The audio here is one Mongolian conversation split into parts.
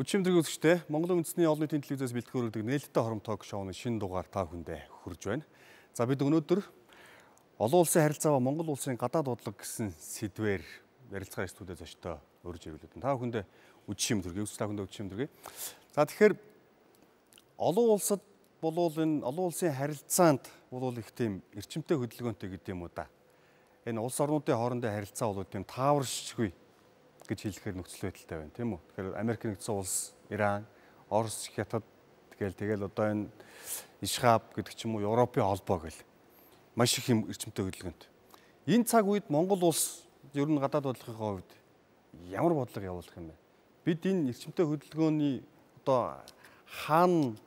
Өчигдөр үзэгчтэй Монголын үндэсний олон нийтийн телевизээс бэлтгэгдэх нээлттэй хором ток шоуны шинэ дугаар та бүхэндээ хүрж байна. За бид өнөөдөр олон улсын харилцаа ба Монгол улсын гадаад бодлого гэсэн сэдвээр ярилцгаа студид зочтой урьж ирүүлээд та бүхэндээ үдшим төргий та бүхэндээ үдшим төргий. За тэгэхээр олон улсад болвол энэ олон улсын харилцаанд болвол их тийм эрчимтэй хөдөлгөөнтэй гэдэг юм уу да. Энэ улс орнуудын хоорондын харилцаа бол тийм тааваршгүй гэж хэлэхээр нөхцөл байдалтай байна тийм үү. Тэгэхээр Америк нэгдсэн улс, Иран, Орос, Хятад тэгэл одоо энэ Ишхаб гэдэг ч юм уу Европын холбоо гэл маш их юм эрчимтэй хөдөлгөөнт. Энэ цаг үед Монгол улс ер нь гадаад бодлогын хувьд ямар бодлого явуулах юм бэ? Бид энэ эрчимтэй хөдөлгөөний одоо хаана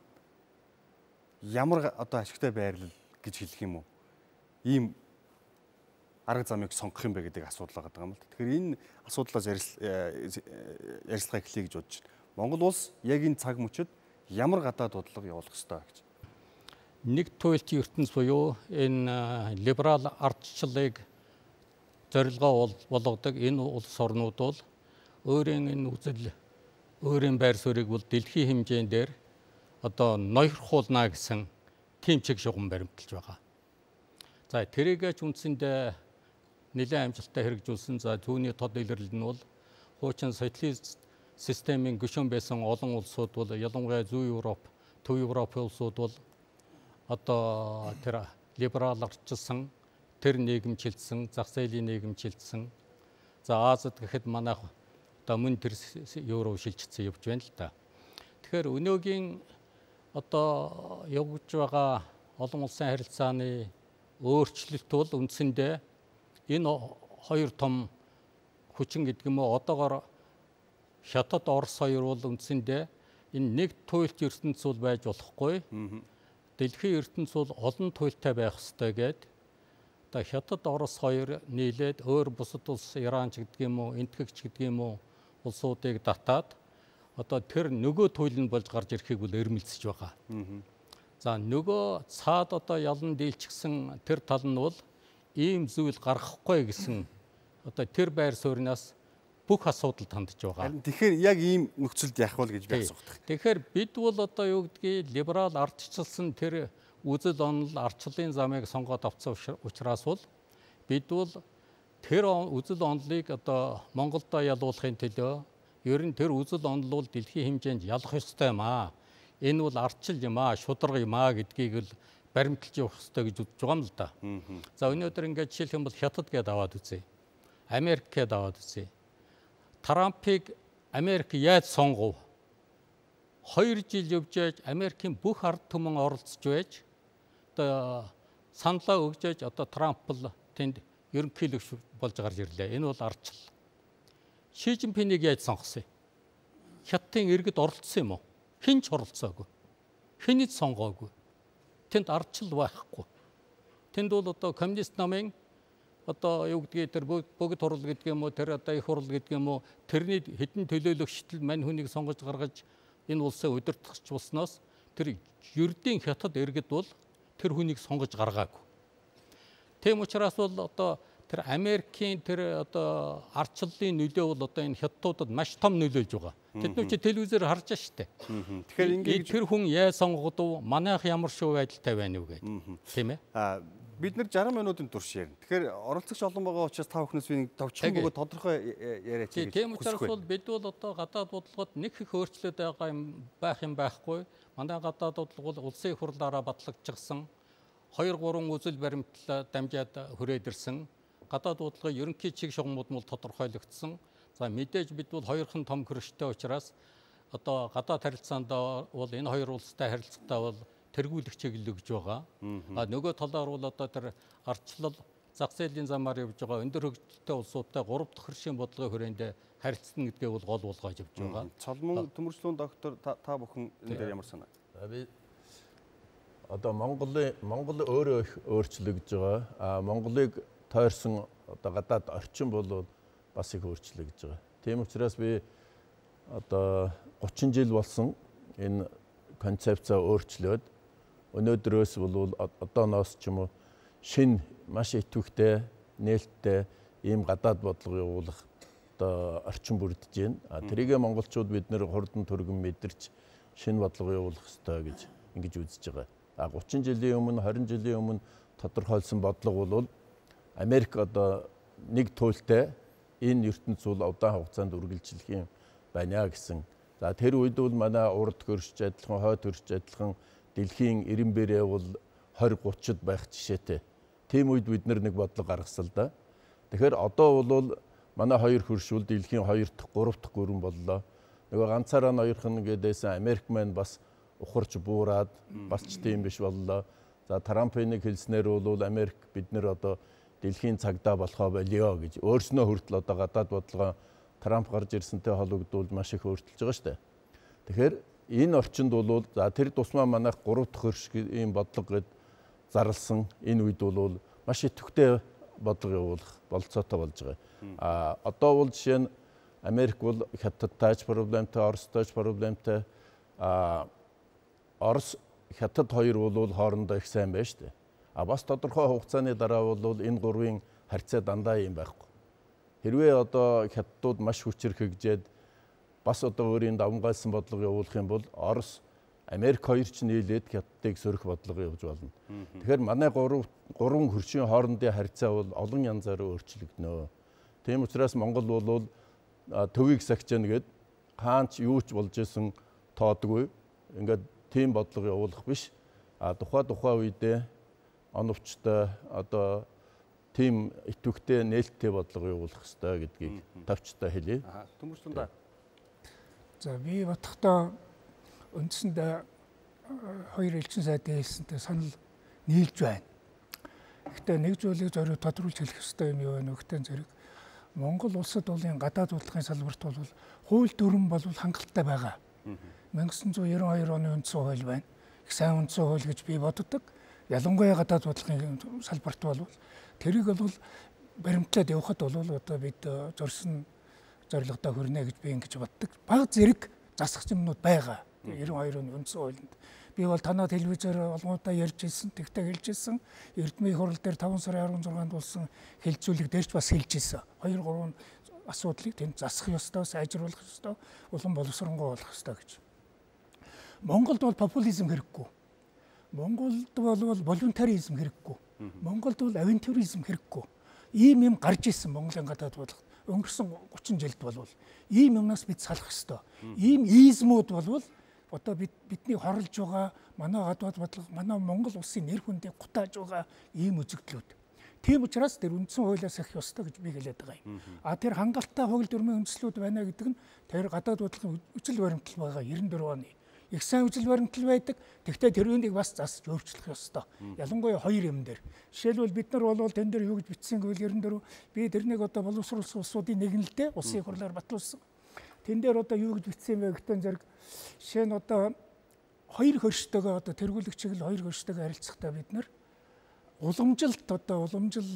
ямар одоо ашигтай байрлал гэж хэлэх юм уу? Ийм арга замыг сонгох юм бэ гэдэг асуудал байгаа юм л. Тэгэхээр энэ асуудлаас ярилцлага эхлэе гэж бодож байна. Монгол улс яг энэ цаг мөчид ямар гадаад бодлого явуулах ёстой гэж. Нэг туйлын ертөнц буюу энэ либерал ардчлалыг зорилгоо болгодог энэ улс орнууд бол өөрийн энэ үзэл, өөрийн байр суурийг бол дэлхийн хэмжээнд дээр одоо ноёрхуулна гэсэн тийм чиг шугам баримталж байгаа. За тэрийг ч үндсэндээ нэлээд амжилттай хэрэгжүүлсэн. За түүний тод илэрлэл нь бол хуучин социалист системийн гишүүн байсан олон улсууд бол ялангуяа Зүүн Европ, Төв Европын улсууд бол одоо тэр либерал ардчилсан, тэр нийгэмчилсэн, зах зээлийн нийгэмчилсэн. За Азад гэхэд манайх одоо мөн тэр евро шилжчихсэн явж байна л да. Тэгэхээр өнөөгийн одоо явж байгаа олон улсын харилцааны өөрчлөлт бол үндсэндээ энэ хоёр том хүчин гэдэг юм уу одоогоор Хятад, Орос хоёр бол үндсэндээ энэ нэг туйлт ертөнц бол байж болохгүй. Дэлхийн ертөнц бол олон туйлтай байх ёстой гэдэг. Одоо Хятад, Орос хоёр нийлээд өөр бусад улс Иран ч гэдэг юм уу, Энэтхэгч гэдэг юм уу улсуудыг татаад одоо тэр нөгөө туйл нь болж гарч ирэхийг бол эрмэлзэж байгаа. За нөгөө цаад одоо ялан дийлчихсэн тэр тал нь бол ийм зүйл гаргахгүй гэсэн одоо тэр байр сууринаас бүх асуудал тандж байгаа. Тэгэхээр яг ийм нөхцөлд яах вэ гэж би асуух. Тэгэхээр бид бол одоо юу гэдгийг либерал ардчилсан тэр үзэл онол ардчлалын замыг сонгоод авсан учраас бол бид бол тэр үзэл онолыг одоо Монголдо ялуулахын төлөө ер нь тэр үзэл онол бол дэлхийн хэмжээнд ялах ёстой юм аа. Энэ бол ардчил юм аа, шударга юм аа гэдгийг л баримталж явах ёстой гэж үзэж байгаа юм л да. За өнөөдөр ингээд жишээлх юм бол Хятад гэдээ аваад үзье. Америк гэдээ аваад үзье. Трампыг Америк яаж сонгов? 2 жил явж яаж Америкийн бүх ард түмэн оролцож байж одоо саналаа өгж яаж одоо Трамп бол тэнд ерөнхийлөгч болж гарч ирлээ. Энэ бол ардчил. Ши Жинпинийг яаж сонгосон юм? Хятадын иргэд оролцсон юм уу? Хэн ч оролцоогүй. Хэнийг сонгоогүй. Тэнд ардчил байхгүй. Тэнд бол одоо коммунист намын одоо юу гэдгийг тэр богд хурал гэдэг юм уу, тэр одоо их хурал гэдэг юм уу, тэрний хэдэн төлөөлөгчдөл мань хүнийг сонгож гаргаж энэ улсаа удирдахч болсноос тэр ердийн Хятад иргэд бол тэр хүнийг сонгож гаргаагүй. Тийм учраас бол одоо тэр Америкийн тэр одоо ардчлалын нөлөө бол одоо энэ хятадуудад маш том нөлөөлж байгаа. Тэд чи телевизээр харж байгаа шүү дээ. Тэгэхээр ингээд тэр хүн яаж сонгогдов, манайх ямар шүү байдалтай байна уу гэдэг. Тийм ээ. Бид нар 60 минутын турш ярина. Тэгэхээр оролцогч олон байгаа учраас та бүхнээс би нэг товчхон бөгөөд тодорхой яриач гэж. Тийм учраас бол бид бол одоо гадаад бодлогод нэг их өөрчлөлт байх юм байхгүй. Манай гадаад бодлого бол улсын их хурлаараа батлагдчихсан. 2-3 үзэл баримтлал дамжаад хүрээд ирсэн. Гадаад бодлогын ерөнхий чиг шугамуд нь тодорхойлогдсон. За мэдээж бид бол хоёрхан том хөрштэй учраас одоо гадаад харилцаанд бол энэ хоёр улстай харилцагтаа бол тэргүүлэх чиглэл өгж байгаа. Нөгөө талаар бол одоо тэр ардчлал зах зээлийн замаар явж байгаа өндөр хөгжилтэй улсуудтай 3 дахь хөршийн бодлогын хүрээнд харилцсан гэдгээ бол гол болгож явж байгаа. Цолмон төмөрчлөөн доктор та бүхэн энэ дээр ямар санаа? Би одоо Монгол өөрөө их өөрчлөгдөж байгаа. Монголыг тойрсон одоо гадаад орчин бол бас их өөрчлөгдөж байгаа. Тийм учраас би одоо 30 жил болсон энэ концепцаа өөрчлөөд өнөөдрөөс бол одооноос ч юм уу шинэ маш идэвхтэй нээлттэй ийм гадаад бодлого явуулах одоо орчин бүрдэж байна. Тэрийгэ монголчууд бид нэр хурдан түргэн мэдэрч шинэ бодлого явуулах ёстой гэж ингэж үзэж байгаа. 30 жилийн өмнө 20 жилийн өмнө тодорхойлсон бодлого бол Америк одоо нэг туйлтай энэ ертөнцийн удаан хугацаанд үргэлжлэх юм байна гэсэн. За тэр үед бол манай урд хөршиж адилхан, хойд хөршиж адилхан дэлхийн 90 бэрээ бол 20-30-д байх жишээтэй. Тийм үед бид нэг бодлого гаргасан л да. Тэгэхээр одоо бол манай хоёр хөрш бол дэлхийн 2 дахь, 3 дахь гүрэн боллоо. Нөгөө ганцаараа ноёрхон гэдээсэн Америк маань бас ухарч буураад бас ч тийм биш боллоо. За Трампын нэг хэлснээр бол Америк бид нэр одоо дэлхийн цагдаа болохоо болио гэж өөрснөө хүртэл одоо гадаад бодлогоо Трамп гарч ирсэнтэй холбогдуулж маш их өөрчилж байгаа шүү дээ. Тэгэхээр энэ орчинд бол за тэр тусмаа манайх 3 дахь хөрш ийм бодлого гэд зарласан энэ үед бол маш идэвхтэй бодлого явуулах болцоотой болж байгаа. Одоо бол жишээ нь Америк бол Хятадтай ч проблемтай, Оростой ч проблемтай. Орос Хятад хоёр бол хоорондоо их сайн байна шүү дээ. Бас тодорхой хугацааны дараа бол энэ гурвын харьцаа дандаа юм байхгүй. Хэрвээ одоо Хятадууд маш хүчрхэгжээд бас одоо өөрийн давмгайлсан бодлого явуулах юм бол Орос, Америк хоёр ч нийлээд Хятадыг сөрөх бодлого явуулж болно. Тэгэхээр манай гурван хөршийн хоорондын харьцаа бол олон янзаар өөрчлөгдөнө. Тийм учраас Монгол бол төвийг сахижна гэд хаанч юу ч болж исэн тоодгүй. Ингээд тийм бодлого явуулах биш. Тухай үедээ оновчтой одоо тийм идэвхтэй нээлттэй бодлого явуулах хэрэгтэй гэдгийг тавчтай хэлье. Төмөрчлөндөө. За би бодохдоо үндсэндээ хоёр элчин сайдын хэлсэнтэй санал нийлж байна. Гэхдээ нэг зүйлийг зориуд тодруулж хэлэх хэрэгтэй юм юу вэ? Нөхдөд зэрэг Монгол улсад бол энэ гадаад бодлогын салбарт бол хууль дүрэн бол хангалттай байгаа. 1992 оны үндсэн хууль байна. Их сайн үндсэн хууль гэж би боддог. Ялангуяа гадаад бодлогын салбарт бол тэрийг бол баримтлаад явахад бол одоо бид зорьсон зорилгодоо хүрнэ гэж би ингэж боддог. Бага зэрэг засах юмнууд байгаа. 92 оны үндсэн хуулинд. Би бол танаа телевизээр олгоодаа ярьж ирсэн, тэгтээ хэлж ирсэн. Эрдмийн хурал дээр 5 сарын 16-нд болсон хэлцүүлэг дээрч бас хэлж ирсэн. 2-3 асуудлыг тэнд засах ёстой, сайжруулах ёстой, улам боловсронгуй болох ёстой гэж. Монголд бол популизм хэрэггүй. Монголд бол волонтаризм хэрэггүй. Монголд бол авантюризм хэрэггүй. Ийм юм гарч ирсэн Монголын гадаад бодлого. Өнгөрсөн 30 жилд бол ийм юмнаас бид салах ёстой. Ийм измүүд бол одоо бидний хорлож байгаа манай гадаад бодлого, манай Монгол улсын нэр хүндийг гутааж байгаа ийм үзэгдлүүд. Тийм учраас тэр үндсэн хуулиас их ёстой гэж би хэлээд байгаа юм. Тэр хангалттай хууль дүрмийн үндслүүд байна гэдэг нь тэр гадаад бодлогын үжил баримтал байгаа 94 оны. Их сайн үжил баримтал байдаг. Тэгвэл тэрүүнийг бас засч өөрчлөх ёстой. Ялангуяа хоёр юм дээр. Жишээлбэл бид нар бол тэн дээр юу гэж бичсэн гэвэл 94 би тэрнийг одоо боловсруулсан улсуудын нэгнэлтэй улсын хурлаар батлуулсан. Тэн дээр одоо юу гэж бичсэн бэ гэхдээ зэрэг жишээ нь одоо хоёр хөрштөөгөө одоо тэргүүлэгчиг л хоёр хөрштөөгөө харилцахдаа бид нар уламжилт одоо уламжил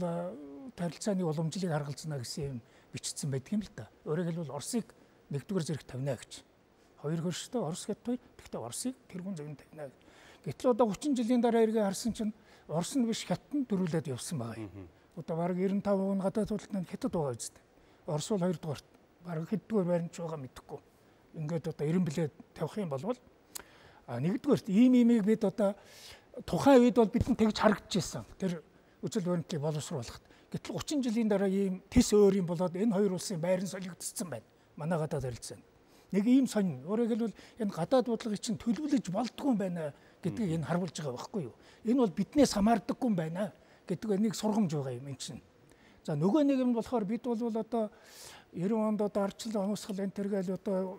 тарилцааны уламжлалыг харгалзана гэсэн юм бичсэн байдаг юм л да. Өөрөөр хэлбэл Оросыг нэгдүгээр зэрэг тавина гэж. Хоёр хөрштэй Орос гэдэгт тэгтээ Оросыг тэргүүн зөвн тавина. Гэтэл одоо 30 жилийн дараа эргээ харсан чинь Орос нь биш Хятад нь дөрүүлээд явсан байгаа юм. Одоо бараг 95% нь гадаад бодлогын Хятад байгаа үстэй. Орос бол хоёрдугаар бараг хэддүгээр баримж байгаа мэдэхгүй. Ингээд одоо 90 билет тавих юм бол нэгдүгээр ийм имийг бид одоо тухайн үед бол бидэнд тэгж харагдчихсан. Тэр үжил баримтлалыг боловсруулахад. Гэтэл 30 жилийн дараа ийм тис өөр юм болоод энэ хоёр улсын байран солигдсон байна. Манай гадаад харилцаанд. Нэг ийм сонин. Өөрөөр хэлбэл энэ гадаад бодлогыг чинь төлөвлөж болдгүй юм байна гэдгийг энэ харуулж байгаа байхгүй юу? Энэ бол биднээс хамаардаггүй юм байна гэдэг нэг сургамж байгаа юм энэ чинь. За нөгөө нэг юм болохоор бид бол одоо 90 онд одоо ардчлал онцгол энэ төргээл одоо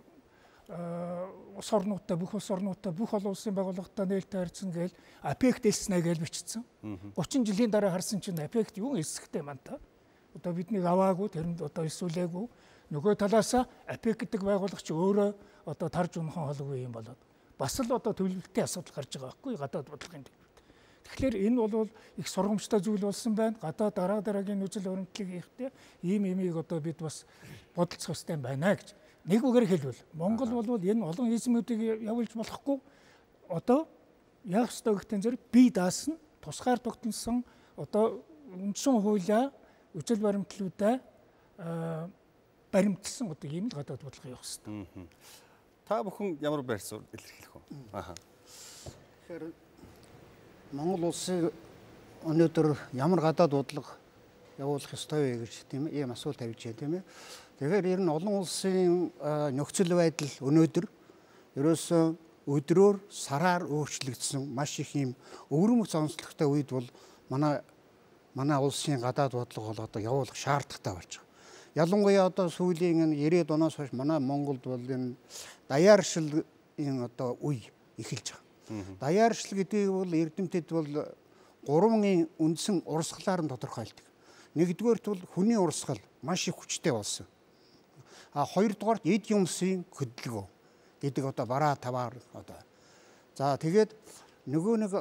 улс орнуудтай бүх улс орнуудтай бүх олон улсын байгууллагатай нээлттэй харьцсан гээл АПЕК дэлснэ гэж бичсэн. 30 жилийн дараа харсан чинь АПЕК юу эсэхтэй маань та. Одоо биднийг аваагүй тэрэнд одоо эсүүлээгүй. Нөгөө талаасаа АПЕК гэдэг байгууллага чи өөрөө одоо тарж унхан холгүй юм болоод бас л одоо төлөвлөлтийн асуудал гарч байгаа байхгүй гадаад бодлогын төлөвлөлт. Тэгэхээр энэ бол их сургамжтай зүйл болсон байна. Гадаад дараагийн үжил баримтлалыг хийхдээ ийм имийг одоо бид бас бодолцох хэрэгтэй байна гэж. Нэг үгээр хэлбэл Монгол бол энэ олон измүүдийг явуулж болохгүй. Одоо яах ёстой гэхдээ зэрэг бие даасан тусгаар тогтносон одоо үндсэн хуулиа үжил баримтлалуудаа баримтсан одоо ийм л гадаад бодлого явах хэрэгтэй. Та бүхэн ямар байр суурь илэрхийлэх вэ? Тэгэхээр Монгол улсын өнөөдөр ямар гадаад бодлого явуулах ёстой вэ гэж тийм ийм асуулт тавьж байна тийм ээ. Тэгэхээр ер нь олон улсын нөхцөл байдал өнөөдөр ерөөсөө өдрөөр сараар өөрчлөгдсөн маш их ийм өвөрмөц онцлогтой үед бол манай улсын гадаад бодлого бол одоо явуулах шаардлагатай болж байгаа. Ялангуяа одоо сүүлийн 90-ад оноос хойш манай Монголд бол энэ даяаршлын одоо үе эхэлж байгаа. Даяаршил гэдэг бол эрдэмтэд бол 3 үндсэн урсгалаар нь тодорхойлдог. Нэгдүгээрт бол хүний урсгал маш их хүчтэй болсон. Хоёрдугаарт эд юмсын хөдөлгөөн гэдэг одоо бараа таваар одоо. За тэгээд нөгөө нэг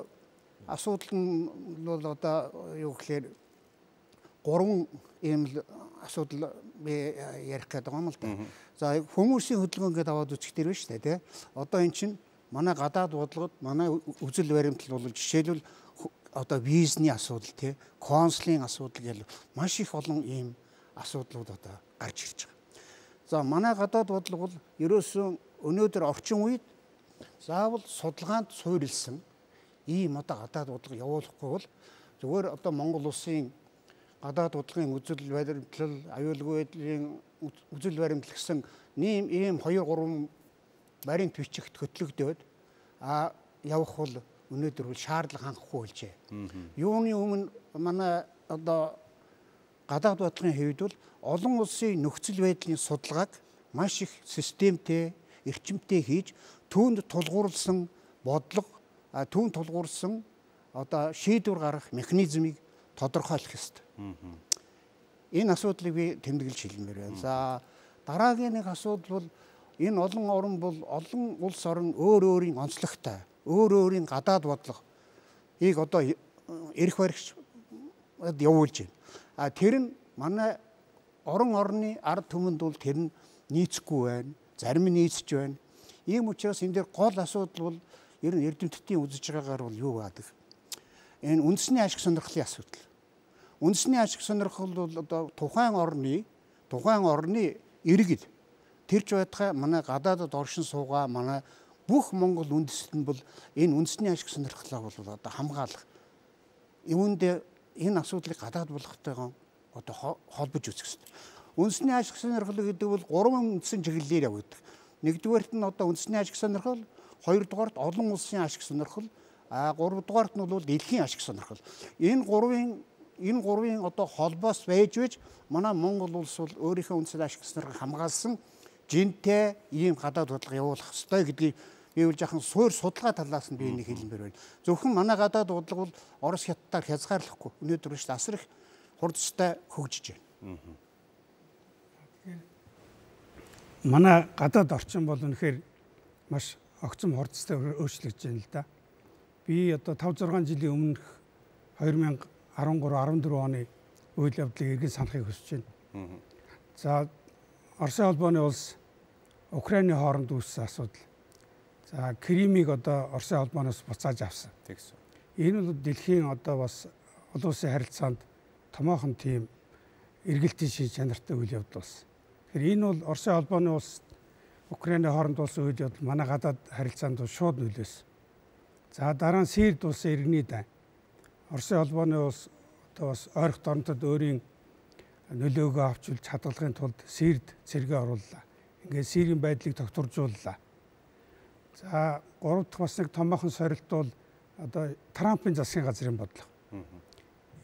асуудал нь бол одоо юу гэхээр 3 ийм л асуудал би ярих гэдэг юм л да. За хүмүүсийн хөдөлгөөн гэдээ аваад үзэх дээр байна шүү дээ тий. Одоо эн чинь манай гадаад бодлогод манай үзэл баримтлал бол жишээлбэл одоо визний асуудал тий, консулын асуудал гэл маш их олон ийм асуудлууд одоо гарч ирж байгаа. За манай гадаад бодлого бол ерөөсөн өнөөдөр орчин үед заавал судалгаанд суурилсан ийм одоо гадаад бодлого явуулахгүй бол зүгээр одоо Монгол улсын гадаад бодлогын үзэл баримтлал, аюулгүй байдлын үзэл баримтлал гэсэн ийм 2-3 баримт бичигт хөтлөгдөөд явах бол өнөөдөр бол шаардлага хангахгүй болжээ. Юуны өмнө манай одоо гадаад бодлогын хэвд бол олон улсын нөхцөл байдлын судалгааг маш их системтэй, эрчимтэй хийж түүнд тулгуурласан бодлого, түүнд тулгуурсан одоо шийдвэр гаргах механизмыг тодорхойлох ёстой. Энэ асуудлыг би тэмдэглэж хэлмээр байна. За дараагийн нэг асуудал бол энэ олон орн бол олон улс орн өөр өөрийн онцлогтой, өөр өөрийн гадаад бодлогыг одоо эрх баригч явуулж байна. Тэр нь манай орон орны ард түмэнд бол тэр нь нийцэхгүй байна. Зарим нь нийцэж байна. Ийм учраас энэ дээр гол асуудал бол ер нь эрдэмтдийн үзэж байгаагаар бол юу байдаг? Энэ үндэсний ашиг сонирхлын асуудал. Үндэсний ашиг сонирхол бол одоо тухайн орны иргэл тэрч байтугай манай гадаадд оршин суугаа манай бүх Монгол үндэстэн нь бол энэ үндэсний ашиг сонирхлоо бол одоо хамгаалах. Үүндээ энэ асуудлыг гадаад болгохтойгоо одоо холбож үзэх хэрэгтэй. Үндэсний ашиг сонирхол гэдэг бол 3 үндсэн чиглэлээр явагддаг. Нэгдүгээрт нь одоо үндэсний ашиг сонирхол, хоёрдугаарт олон улсын ашиг сонирхол, гуравдугаарт нь бол дэлхийн ашиг сонирхол. Энэ гурвын одоо холбоос байж манай Монгол улс бол өөрийнхөө үндэсний ашиг сонирхлыг хамгаалсан жинтэй ийм гадаад бодлого явуулах ёстой гэдгийг би бол жаахан суур судалгаа талаас нь би энийг хэлмээр байна. Зөвхөн манай гадаад бодлого бол Орос хятадаар хязгаарлахгүй. Өнөөдөр ч асар их хурдтай хөгжиж байна. Манай гадаад орчин бол үнэхээр маш огцом хурдтай өөрчлөгдөж байна л да. Би одоо 5-6 жилийн өмнөх 2013-14 оны үйл явдлыг эргэн санахыг хүсэж байна. За Оросын холбооны улс Украины хооронд үүссэн асуудал. За Кримийг одоо Оросын холбооноос буцааж авсан. Тэгсэн. Энэ бол дэлхийн одоо бас олон улсын харилцаанд томоохон тийм эргэлтийн шийд чанартай үйл явдал болсон. Тэгэхээр энэ бол Оросын холбооны улс Украины хооронд болсон үйл явдал манай гадаад харилцаанд шууд нөлөөсөн. За дараа нь Сирд улсын иргэний дай. Оросын холбооны улс одоо бас ойрхон орнотод өөрийн нөлөөгөө авчулж хадгалахын тулд Сирд цэргээ орууллаа. Ингээд Сирийн байдлыг тогтворжууллаа. За 3 дахь бас нэг томоохон сорилт бол одоо Трампын засгийн газрын бодлого.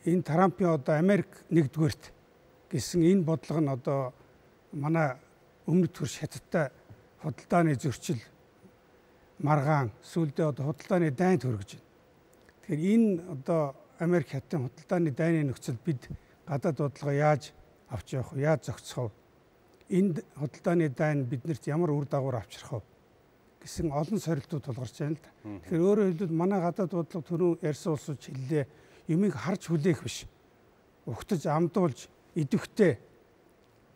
Энэ Трампын одоо Америк нэгдүгээрт гэсэн энэ бодлого нь одоо манай өмнөд төрш хятадтай худалдааны зөрчил маргаан сүүлдээ одоо худалдааны дайнд хүргэж байна. Тэгэхээр энэ одоо Америк хятадын худалдааны дайны нөхцөл бид гадаад бодлого яаж авч явах вэ? Яаж зохицох вэ? Энд худалдааны дайн биднэрт ямар үр дагавар авчрах вэ гэсэн олон сорилтууд тулгарч байна л да. Тэгэхээр өөрөөр хэлбэл манай гадаад бодлого түрүү ярьсан улсууд хэллээ юмыг харж хүлээх биш. Угтаж амдуулж идэвхтэй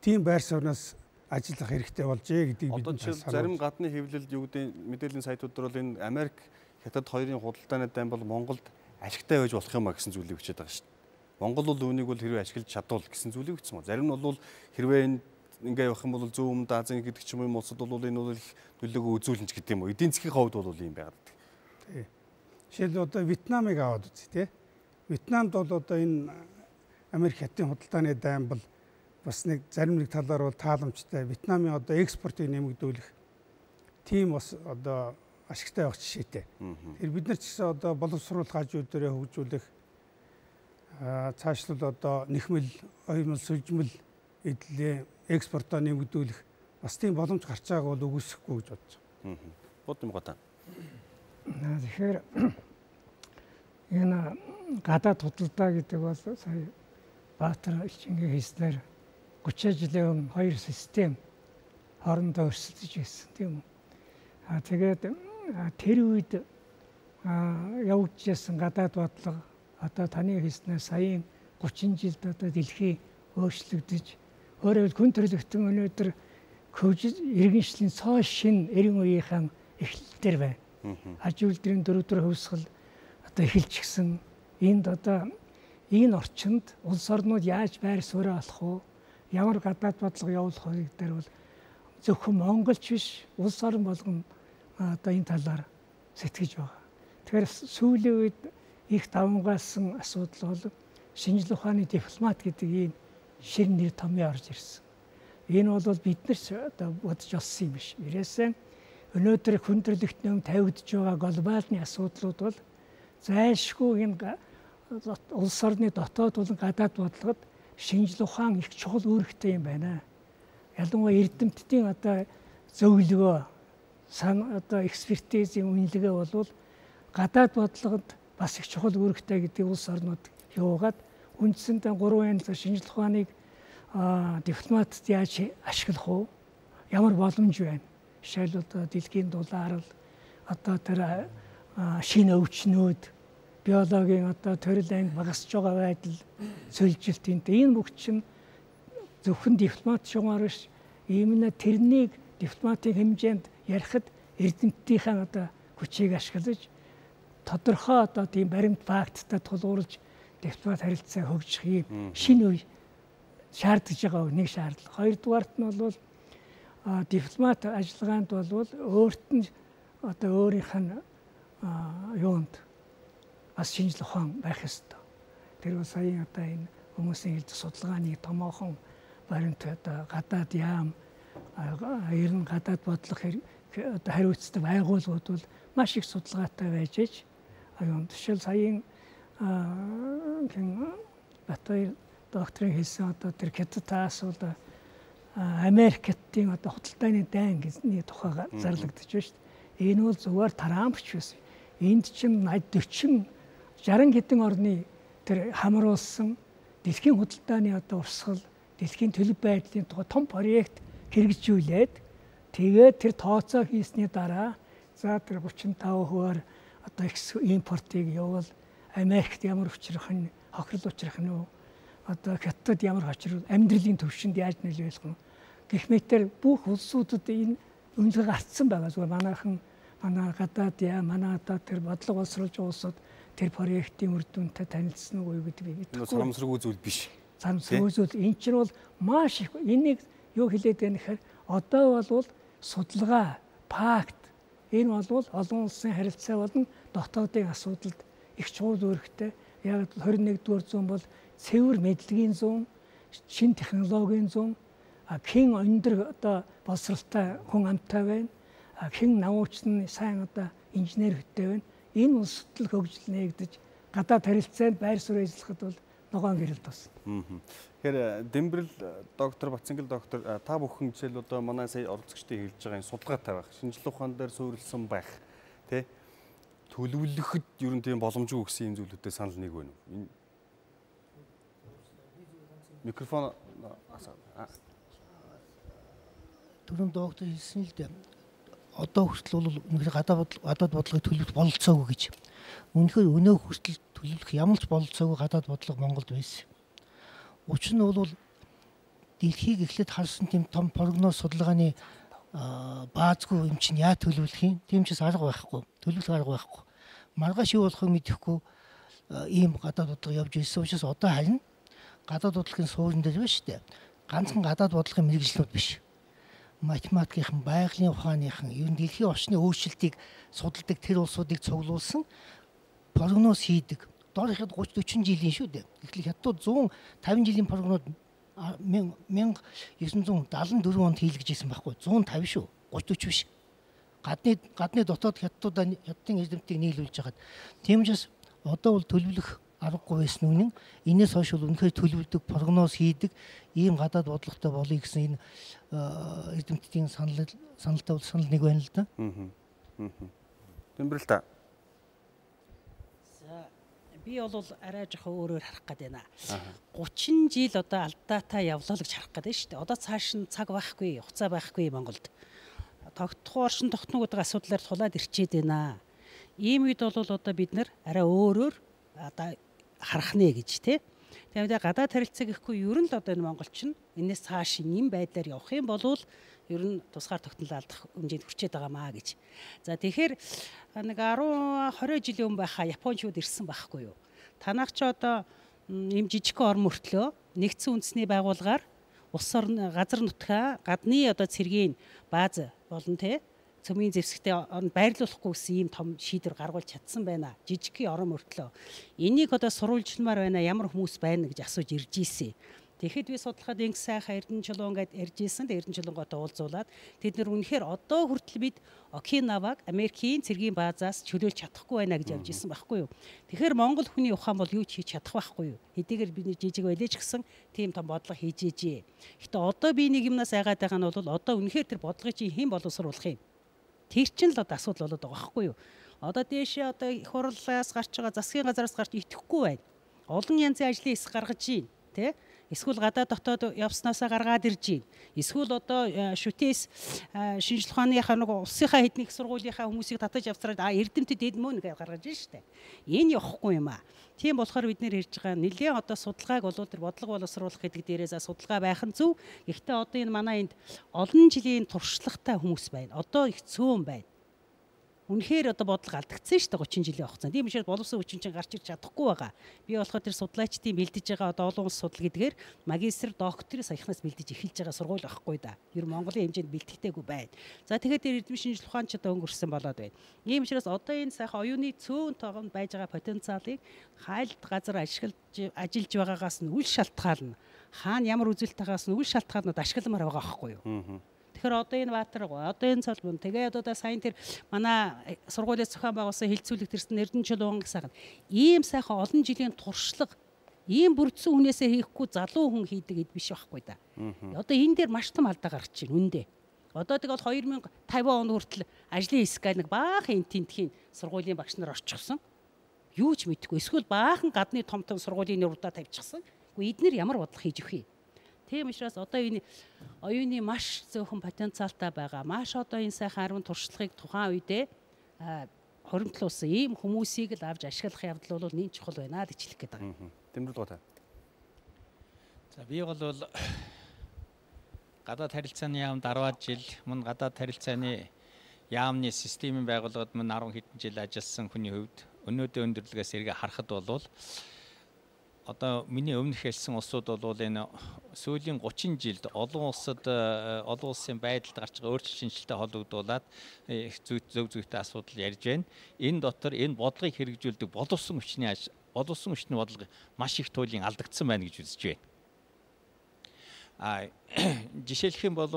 тийм байр сууриас ажиллах хэрэгтэй болжээ гэдгийг бид одоо зарим гадны хэвлэлд юу гэдэг мэдээллийн сайтууд дээр бол энэ Америк хятад хоёрын худалдааны дайн бол Монголд ашигтай байж болох юм а гэсэн зүйлийг бичээд байгаа шүү дээ. Монгол бол үүнийг бол хэрвээ ашиглаж чадвал гэсэн зүйлийг бичсэн ба. Зарим нь бол хэрвээ энэ ингээ явах юм бол Зүүн Өмнөд Азийн гэдэг ч юм уу улсад бол энэ бол их нөлөөгөө үзүүлнэ ч гэдэг юм уу. Эдийн засгийн хувьд бол ийм байгаад байна. Тий. Жишээл одоо Вьетнамыг аваад үзье тий. Вьетнамд бол одоо энэ Америк хятадын худалдааны дайн бол бас нэг зарим нэг талаар бол тааламжтай. Вьетнамын одоо экспортыг нэмэгдүүлэх тийм бас одоо ашигтай байх жишээтэй. Тэгэхээр бид нар ч гэсэн одоо боловсруулах хажууд дээрээ хөгжүүлэх цаашлал одоо нэхмэл, оюмл, сүлжмэл эдлээ экспортоо нэмэгдүүлэх бас тийм боломж гарч байгааг бол үгүйсэхгүй гэж бодож байна. Бод юм гадаа. Тэгэхээр энэ гадаад худалдаа гэдэг бол сая Баатар Элчингийн хийснээр 30 жилийн өмнө хоёр систем хоорондоо өрсөлдөж байсан тийм үү. Тэгээд тэр үед явагдажсэн гадаад бодлого одоо таны хийснээр саяын 30 жилд одоо дэлхий өөрчлөгдөж өөрөөр хүн төрөлхтөн өнөөдөр иргэншлийн цоо шин 90 үеийнхэн эхлэлтэр байна. Аж үйлдвэрийн 4 хувьсгал одоо эхэлчихсэн. Энд одоо энэ орчинд улс орнууд яаж байр суурь олох вэ? Ямар гадаад бодлого явуулах вэ гэдгээр бол зөвхөн монголч биш улс орн болгон одоо энэ талаар сэтгэж байгаа. Тэгэхээр сүүлийн үед их давмгаалсан асуудал бол шинжлэх ухааны дипломат гэдэг ийм шин нэр томьёо орж ирсэн. Энэ бол бид нар одоо бодож олсон юм биш. Ирээсээ өнөөдөр хүн төрөлхтний өмнө тавигдж байгаа глобалны асуудлууд бол зайлшгүй энэ улс орны дотоод болон гадаад бодлогод шинжлэх ухаан их чухал үүрэгтэй юм байна. Ялангуяа эрдэмтдийн одоо зөвлөгөө одоо экспертизийн үнэлгээ бол гадаад бодлогод бас их чухал үүрэгтэй гэдэг улс орнууд явуугаад үндсэндээ 3 янзаар шинжлэх ухааныг дипломатд яаж ашиглах вэ? Ямар боломж байна? Жишээл одоо дэлхийн дулаар л одоо тэр шинэ өвчнүүд биологийн одоо төрөл анги багасж байгаа байдал сөлжилт энэ бүх чинь зөвхөн дипломат шугаар биш иймнэ тэрнийг дипломатын хэмжээнд ярихад эрдэмтдийн одоо хүчийг ашиглаж тодорхой одоо тийм баримт факттай тулгуурлаж дипломат харилцаа хөгжих юм шинэ үе шаардж байгаа нэг шаардлага. Хоёрдугаарт нь бол дипломат ажиллагаанд бол өөрт нь одоо өөрийнх нь юунд бас шинжлэх ухаан байх ёстой. Тэр бол сая одоо энэ хүмүүсийн хэлдэг судалгааны томоохон баримт одоо гадаад яам ер нь гадаад бодлого одоо хариуцдаг байгууллагууд бол маш их судалгаатай байж аж аюун жишээл саяын Батбаяр докторийн хэлсэн одоо тэр Хятадаас бол Америктийн одоо худалдааны дайн гэсний тухайга зарлагдаж байна шүү дээ. Энэ бол зөвхөн Трампч байсан. Энд чинь 40 60 хэдэн орны тэр хамруулсан дэлхийн худалдааны одоо урсгал, дэлхийн төлөв байдлын тухай том проект хэрэгжүүлээд тэгээд тэр тооцоо хийсний дараа за тэр 35%-аар одоо импортыг явуул Америкт ямар учрах нь хохирол учрах нь одоо Хятад ямар хочрол амьдралын төвшөнд яаж нөлөөлөх нь гэх мэтэр бүх улсуудад энэ үнэлгээ гарцсан байгаа. Зүгээр манай гадаад яа манай одоо тэр бодлого боловсруулж байгаа улсууд тэр проектын үр дүнтэй танилцсан уу гэдэг би мэдэхгүй. Санамсргүй зүйл биш. Санамсргүй зүйл энэ чинь бол маш их энийг юу хэлээд байна гэхээр одоо бол судалгаа, факт энэ бол олон улсын харилцаа болон дотоодын асуудалд их чухал үүрэгтэй. Яг 21-р зуун бол цэвэр мэдлэгийн зуун, шин технологийн зуун, хэн өндөр одоо боловсралтай хүн амтай байна, хэн намуучны сайн одоо инженер хөттэй байна. Энэ улсад л хөгжил нээгдэж гадаад харилцаанд байр суурь эзлэхэд бол ногоон гэрэлт басна. Тэгэхээр Дэмбэрэл доктор Бацангил доктор та бүхэн жишээл одоо манай сая оролцогчдын хэлж байгаа энэ судалгаатай байх, шинжлэх ухаан дээр суурилсан байх, тий төлөвлөхөд ер нь тийм боломжгүй гэсэн юм зүйлүүдтэй санал нэг байна уу? Микрофон түрүүн доктор хэлсэн л дээ. Одоо хүртэл бол үнэхээр гадаад бодлогыг төлөвлөх бололцоогүй гэж. Үнэхээр өнөө хүртэл төлөвлөх ямар ч бололцоогүй гадаад бодлого Монголд байсан. Учир нь бол дэлхийг эхлээд харсан тийм том прогноз судалгааны баазгүй юм чинь яа төлөвлөх юм? Тийм ч арга байхгүй. Төлөвлөх арга байхгүй. Маргааш юу болохыг мэдэхгүй ийм гадаад бодлого явж ирсэн учраас одоо харин гадаад бодлогын суурин дээр байна шүү дээ. ганцхан гадаад бодлогын мэрэгжлүүд биш. Математикийн, байгалийн ухааныхан, ер нь дэлхийн орчны өөрчлөлтийг судалдаг тэр улсуудыг цуглуулсан прогноз хийдэг. Доор ихэд 30-40 жилийн шүү дээ. Эхлээд хятад 150 жилийн прогноз 1974 онд хийлгэжсэн байхгүй. 150 шүү. 30-40 биш. Гадны дотоод хятадын эзэмтгийг нийлүүлж хагаад. Тийм учраас одоо бол төлөвлөх аргагүй байсан үнэн. Энээс хойш бол үнэхээр төлөвлөдөг, прогноз хийдэг ийм гадаад бодлоготой болъё гэсэн энэ эзэмтдийн санал нэг байна л да. Тэмбэрэл та. Би бол арай жоохон өөрөөр харах гээд байна. 30 жил одоо алдаатай явлаа л гэж харах гээд байна шүү дээ. Одоо цааш нь цаг байхгүй, хугацаа байхгүй Монголд. Тогтох оршин тогтногуудын асуудлаар тулаад ирчээд байна. Ийм үед бол одоо бид нэр арай өөрөөр одоо харах нэ гэж тий. Тэгээд гадаад харилцаа гэхгүй ер нь л одоо энэ монголчин энэс цааш ийм байдлаар явах юм бол ер нь тусгаар тогтнол алдах хэмжээнд хүрчээд байгаамаа гэж. За тэгэхээр нэг 10-20 жилийн өмнө байхаа Япончууд ирсэн байхгүй юу? Танах ч одоо ийм жижигхэн орн мөртлөө нэгдсэн үндэсний байгууллагаар улс орны газар нутгаа гадны одоо цэргийн бааз болон тэ цөмийн зэвсэгтээ байрлуулахгүй гэсэн ийм том шийдвэр гаргуулж чадсан байна. Жижигхэн орон мөртлөө. Энийг одоо сурвалжламаар байна. Ямар хүмүүс байна гэж асууж ирж ийсэн. Тэгэхэд би судлахад инг сайхан Эрдэнэ чулуун гэдээ ярьж ийсэн. Эрдэнэ чулуунгаатай уулзуулаад тэд нар үнэхээр одоо хүртэл бид Окинаваг Америкийн цэргийн баазаас чөлөөлж чадахгүй байна гэж явж ийсэн байхгүй юу. Тэгэхээр Монгол хүний ухаан бол юу ч хийж чадах байхгүй юу. Хэдийгээр би жижиг байлээч гэсэн тийм том бодлого хийж ээжээ. Гэтэ одоо би нэг юмнаас айгаад байгаа нь бол одоо үнэхээр тэр бодлогыг чи хэн боловсруулах юм. Тэр чинь л одоо асуудал болоод байгаа байхгүй юу. Одоо дээшээ одоо их хурлаас гарч байгаа засгийн газараас гарч итгэхгүй байна. Олон янзын ажлын эс гаргаж байна, тэ? Эсвэл гадаад дотоод явснаасаа гаргаад ирж байна. Эсвэл одоо шүтээс шинжлэх ухааныхаа нэг улсынхаа хэдний их сургуулийнхаа хүмүүсийг татаж авсараад эрдэмтэд эдмөн гэж гаргаж байна шүү дээ. Энэ явахгүй юм аа. Тийм болохоор бид нэр ярьж байгаа нэлээд одоо судалгааг болоо тэр бодлого боловсруулах гэдэг дээрээс судалгаа байх нь зөв. Гэхдээ одоо энэ манай энд олон жилийн туршлагатай хүмүүс байна. Одоо их цөөн байна. Үнэхээр одоо бодлого алдагдсан шүү дээ 30 жилийн хугацаанд. Тийм учраас боловсон хүчин чинь гарч ирж чадахгүй байгаа. Би болохоор тэр судлаачдын бэлдэж байгаа одоо олон улс судал гэдгээр магистр, докторийн саяхнаас бэлдэж эхэлж байгаа сургууль байхгүй да. Ер нь Монголын хэмжээнд бэлтгэдэггүй байна. За тэгэхээр тэр эрдэмтэн шинжилгээ ухаан ч одоо өнгөрсөн болоод байна. Ийм учраас одоо энэ сайхан оюуны цөөн тоогонд байж байгаа потенциалыг хайлт газар ажиллаж байгаагаас нь үл шалтгаална. Хаана ямар үзэлтээс нь үл шалтгаалнууд ашигламаар байгаа байхгүй юу? Тэгэхээр одоо энэ Баатар, одоо энэ Цолбон, тэгээд одоо сайн тэр манай сургуулиас зохион байгуулсан хилцүүлэг тэрсэн Эрдэнэ чулуун гэсэн ийм сайхан олон жилийн туршлага ийм бүрдсэн хүнээсээ хийхгүй залуу хүн хийдэг эд биш байхгүй да. Одоо энэ дээр маш том алдаа гарч байна үндэ. Одоо тэгэл 2050 он хүртэл ажлын хэсгээ нэг баахан тентхийн сургуулийн багш нар орчихсон. Юу ч мэдэхгүй. Эсвэл баахан гадны том сургуулийн нурдаа тавьчихсан. Гэхдээ эднэр ямар бодлого хийж өгөх юм? Тийм учраас одоо энэ оюуны маш зөөхөн потенциалтай байгаа. Маш одоо энэ сайхан 10 туршлагыг тухайн үедээ хоримтлуулсан ийм хүмүүсийг л авч ашиглах явдал бол нэн чухал байна гэж хэлэх гээд байгаа. Тэмдэглэл гоо. За би бол гадаад харилцааны яамд 10 жил мөн гадаад харилцааны яамны системийн байгууллагад мөн 10 хэдэн жил ажилласан хүний хувьд өнөөдөр өндөрлөгөөс эргээ харахад бол одоо миний өмнөх хэлсэн улсууд бол энэ сүүлийн 30 жилд олон улсын байдалд гарч байгаа өөрчлөлт шинжилттэй холбогдуулаад зөв зүйтэй асуудал ярьж байна. Энэ дотор энэ бодлогыг хэрэгжүүлдэг боловсон хүчний бодлого маш их туйлын алдагдсан байна гэж үзэж байна. Жишээлх юм бол